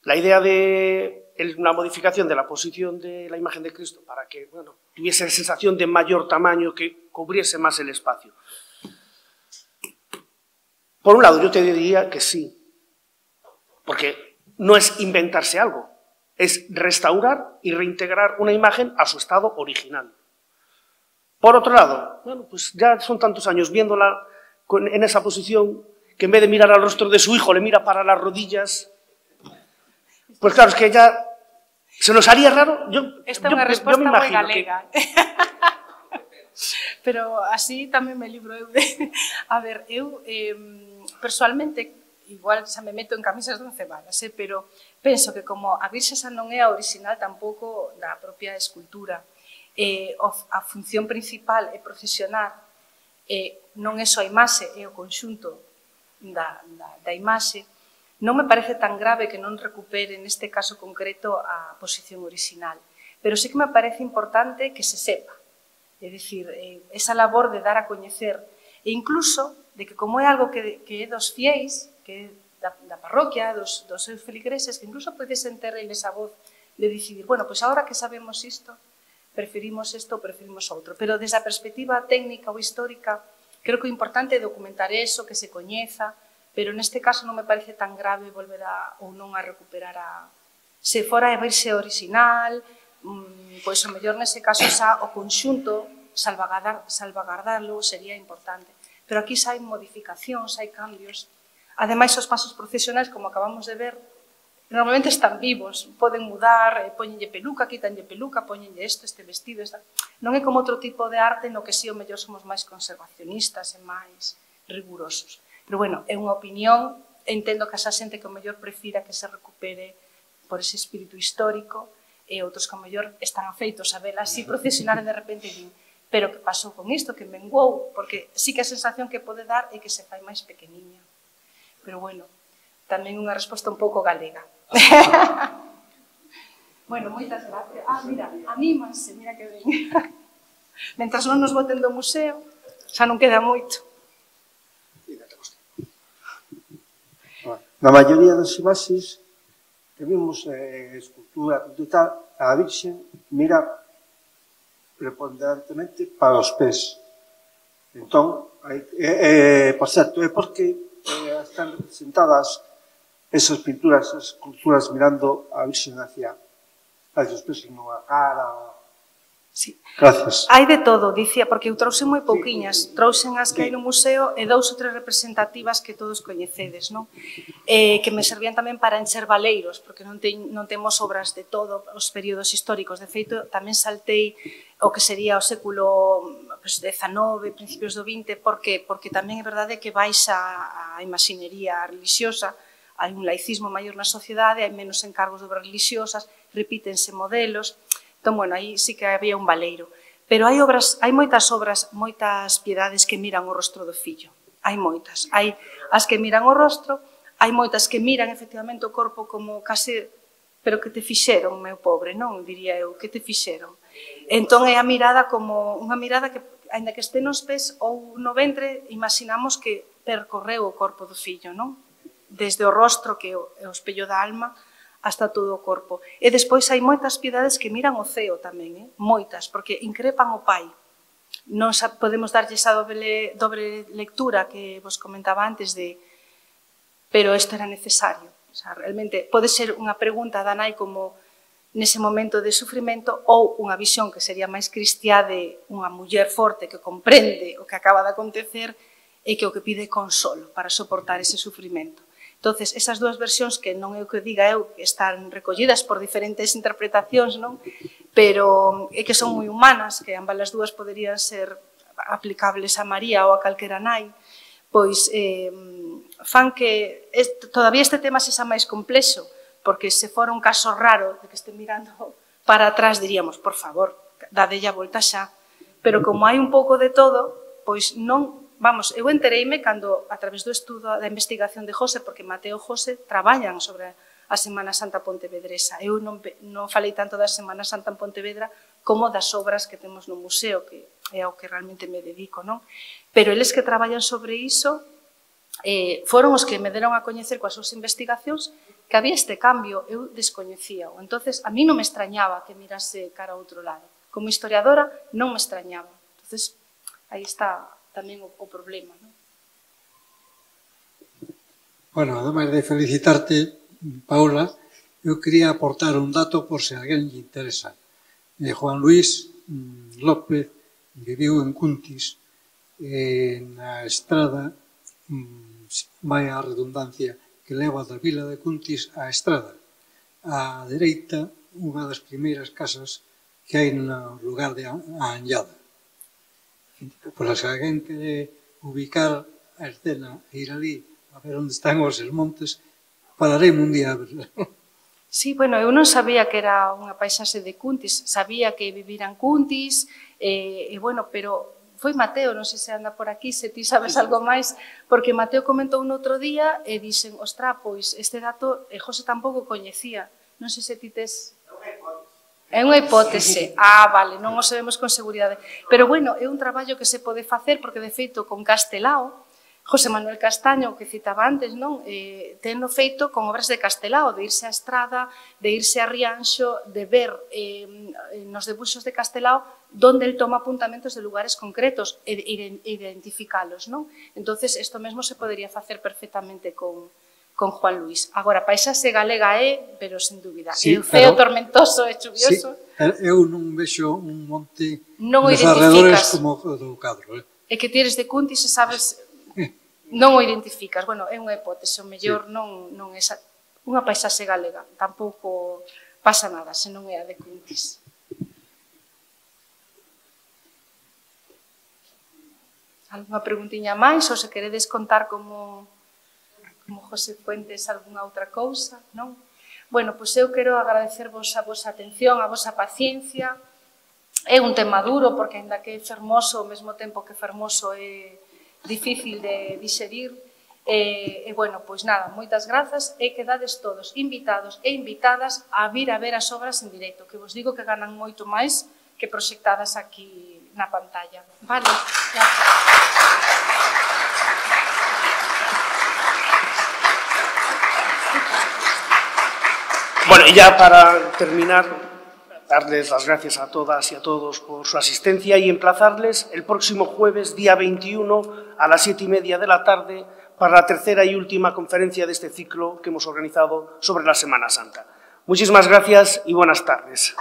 La idea de una modificación de la posición de la imagen de Cristo para que, bueno, tuviese la sensación de mayor tamaño, que cubriese más el espacio. Por un lado, yo te diría que sí, porque no es inventarse algo, es restaurar y reintegrar una imagen a su estado original. Por otro lado, bueno, pues ya son tantos años viéndola en esa posición que en vez de mirar al rostro de su hijo le mira para las rodillas. Pues claro, es que ya se nos haría raro. Yo, Esta é yo, unha resposta yo me moi imagino galega. que... Pero así tamén me libro eu de... A ver, eu eh, personalmente, igual xa me meto en camisas de once varas, eh, pero penso que como a Virxe xa non é a original tampouco da propia escultura, eh, a función principal é procesionar, eh, non é só a imaxe, é o conxunto da, da, da imaxe, non me parece tan grave que non recupere neste caso concreto a posición original, pero sí que me parece importante que se sepa, é dicir, eh, esa labor de dar a coñecer, e incluso de que como é algo que, que é dos fiéis, que é da, da parroquia, dos, dos seus feligreses, que incluso podesen ter eles a voz de decidir, bueno, pois agora que sabemos isto, preferimos isto ou preferimos outro, pero desde a perspectiva técnica ou histórica, creo que o importante é documentar eso, que se coñeza, pero neste caso non me parece tan grave volver a, ou non a recuperar a... Se fora a verse original, pois o mellor nese caso xa o conxunto, salvagardar, salvagardarlo sería importante. Pero aquí xa hai modificacións, hai cambios. Ademais, os pasos procesionais, como acabamos de ver, normalmente están vivos, poden mudar, poñenlle peluca, quítanlle peluca, poñenlle isto, este vestido, esta... Non é como outro tipo de arte no que si o mellor somos máis conservacionistas e máis rigurosos. Pero, bueno, é unha opinión, entendo que esa xente que o mellor prefira que se recupere por ese espírito histórico e outros que o mellor están afeitos a vela así procesionar e de repente din, pero que pasou con isto, que menguou, porque sí que a sensación que pode dar é que se fai máis pequeniña. Pero, bueno, tamén unha resposta un pouco galega. Bueno, moitas gracias. Ah, mira, anímanse, mira que ben. Mentras non nos boten do museo, xa non queda moito. Na maioría das imaxes que vimos eh, escultura e tal, a Virxen mira preponderantemente para os pés. Entón, eh, eh, por certo, é porque eh, están representadas esas pinturas, esas esculturas mirando a Virxen hacia, hacia os pés, non a cara. Sí. Gracias. Hai de todo, dicía, porque eu trouxe moi pouquiñas, trouxen as que hai no museo e dous ou tres representativas que todos coñecedes, non? Eh, que me servían tamén para encher valeiros, porque non, te, non temos obras de todo os períodos históricos. De feito, tamén saltei o que sería o século pues, dezanove, principios do vinte, porque, porque tamén é verdade que baixa a imaxinería religiosa, hai un laicismo maior na sociedade, hai menos encargos de obras religiosas, repítense modelos. Entón, bueno, aí sí que había un valeiro. Pero hai obras, hai moitas obras, moitas piedades que miran o rostro do fillo. Hai moitas. Hai as que miran o rostro, hai moitas que miran efectivamente o corpo como case, pero que te fixeron, meu pobre, non? Diría eu, que te fixeron. Entón é a mirada como unha mirada que, ainda que este nos pés ou no ventre, imaginamos que percorreu o corpo do fillo, non? Desde o rostro, que é o espello da alma, hasta todo o corpo. E despois hai moitas piedades que miran o ceo tamén, eh? moitas, porque increpan o Pai. Non podemos darlle esa doble, doble lectura que vos comentaba antes de pero isto era necesario. O sea, realmente pode ser unha pregunta da nai como nese momento de sufrimento ou unha visión que sería máis cristiá de unha muller forte que comprende o que acaba de acontecer e que o que pide consolo para soportar ese sufrimento. Entonces, esas dúas versións que non é o que diga eu, que están recollidas por diferentes interpretacións, non? Pero é que son moi humanas, que ambas as dúas poderían ser aplicables a María ou a calquera nai, pois eh, fan que este, todavía este tema sexa máis complexo, porque se fora un caso raro de que este mirando para atrás diríamos, por favor, dadelle a volta xa, pero como hai un pouco de todo, pois non, vamos, eu entereime cando, a través do estudo da investigación de José, porque Mateo e José traballan sobre a Semana Santa Pontevedresa. Eu non, non falei tanto da Semana Santa en Pontevedra como das obras que temos no museo, que é ao que realmente me dedico, non? Pero eles que traballan sobre iso eh, foron os que me deron a coñecer coas súas investigacións que había este cambio, eu descoñecía. Entonces, a mí non me extrañaba que mirase cara a outro lado. Como historiadora, non me extrañaba. Entonces, aí está tamén o, o problema, non? Bueno, ademais de felicitarte, Paula, eu quería aportar un dato por se a alguén lle interesa. Eh, Juan Luis López viviu en Cuntis, eh, na estrada, vai a redundancia, que leva da vila de Cuntis á estrada. A dereita, unha das primeiras casas que hai no lugar de a Anllada. Por se alguén quere ubicar a escena e ir ali a ver onde están os montes, falaremos un día a ver. Sí, bueno, eu non sabía que era unha paisaxe de Cuntis, sabía que viviran Cuntis, e, e bueno, pero foi Mateo, non sei se anda por aquí, se ti sabes algo máis, porque Mateo comentou un outro día e dixen, ostra, pois este dato e José tampouco coñecía, non sei se ti tes... É unha hipótese. Ah, vale, non o sabemos con seguridade. Pero, bueno, é un traballo que se pode facer, porque, de feito, con Castelao, José Manuel Castaño, que citaba antes, non? Eh, teno feito con obras de Castelao, de irse á Estrada, de irse a Rianxo, de ver eh, nos debuxos de Castelao donde el toma apuntamentos de lugares concretos e identificalos, non? Entonces, isto mesmo se podería facer perfectamente con, con Juan Luis. Agora, paisaxe galega é, pero sen dúbida, sí, é feo, pero, tormentoso e chuvioso. Sí, eu non vexo un monte non nos arredores como do cadro. Eh? É que ti eres de Cuntis e sabes... Non o identificas, bueno, é unha hipótese, o mellor sí. non, non é unha paisaxe galega, tampouco pasa nada se non é a de Cuntis. Alguna preguntiña máis, ou se queredes contar como, como José Fuentes algunha outra cousa, non? Bueno, pois eu quero agradecervos a vosa atención, a vosa paciencia. É un tema duro, porque ainda que é fermoso, ao mesmo tempo que fermoso é difícil de digerir, e, e bueno, pois nada, moitas grazas e quedades todos invitados e invitadas a vir a ver as obras en directo, que vos digo que ganan moito máis que proxectadas aquí na pantalla. Vale, gracias. Bueno, y ya para terminar, darles las gracias a todas y a todos por su asistencia y emplazarles el próximo jueves, día veintiuno, a las siete y media de la tarde, para la tercera y última conferencia de este ciclo que hemos organizado sobre la Semana Santa. Muchísimas gracias y buenas tardes.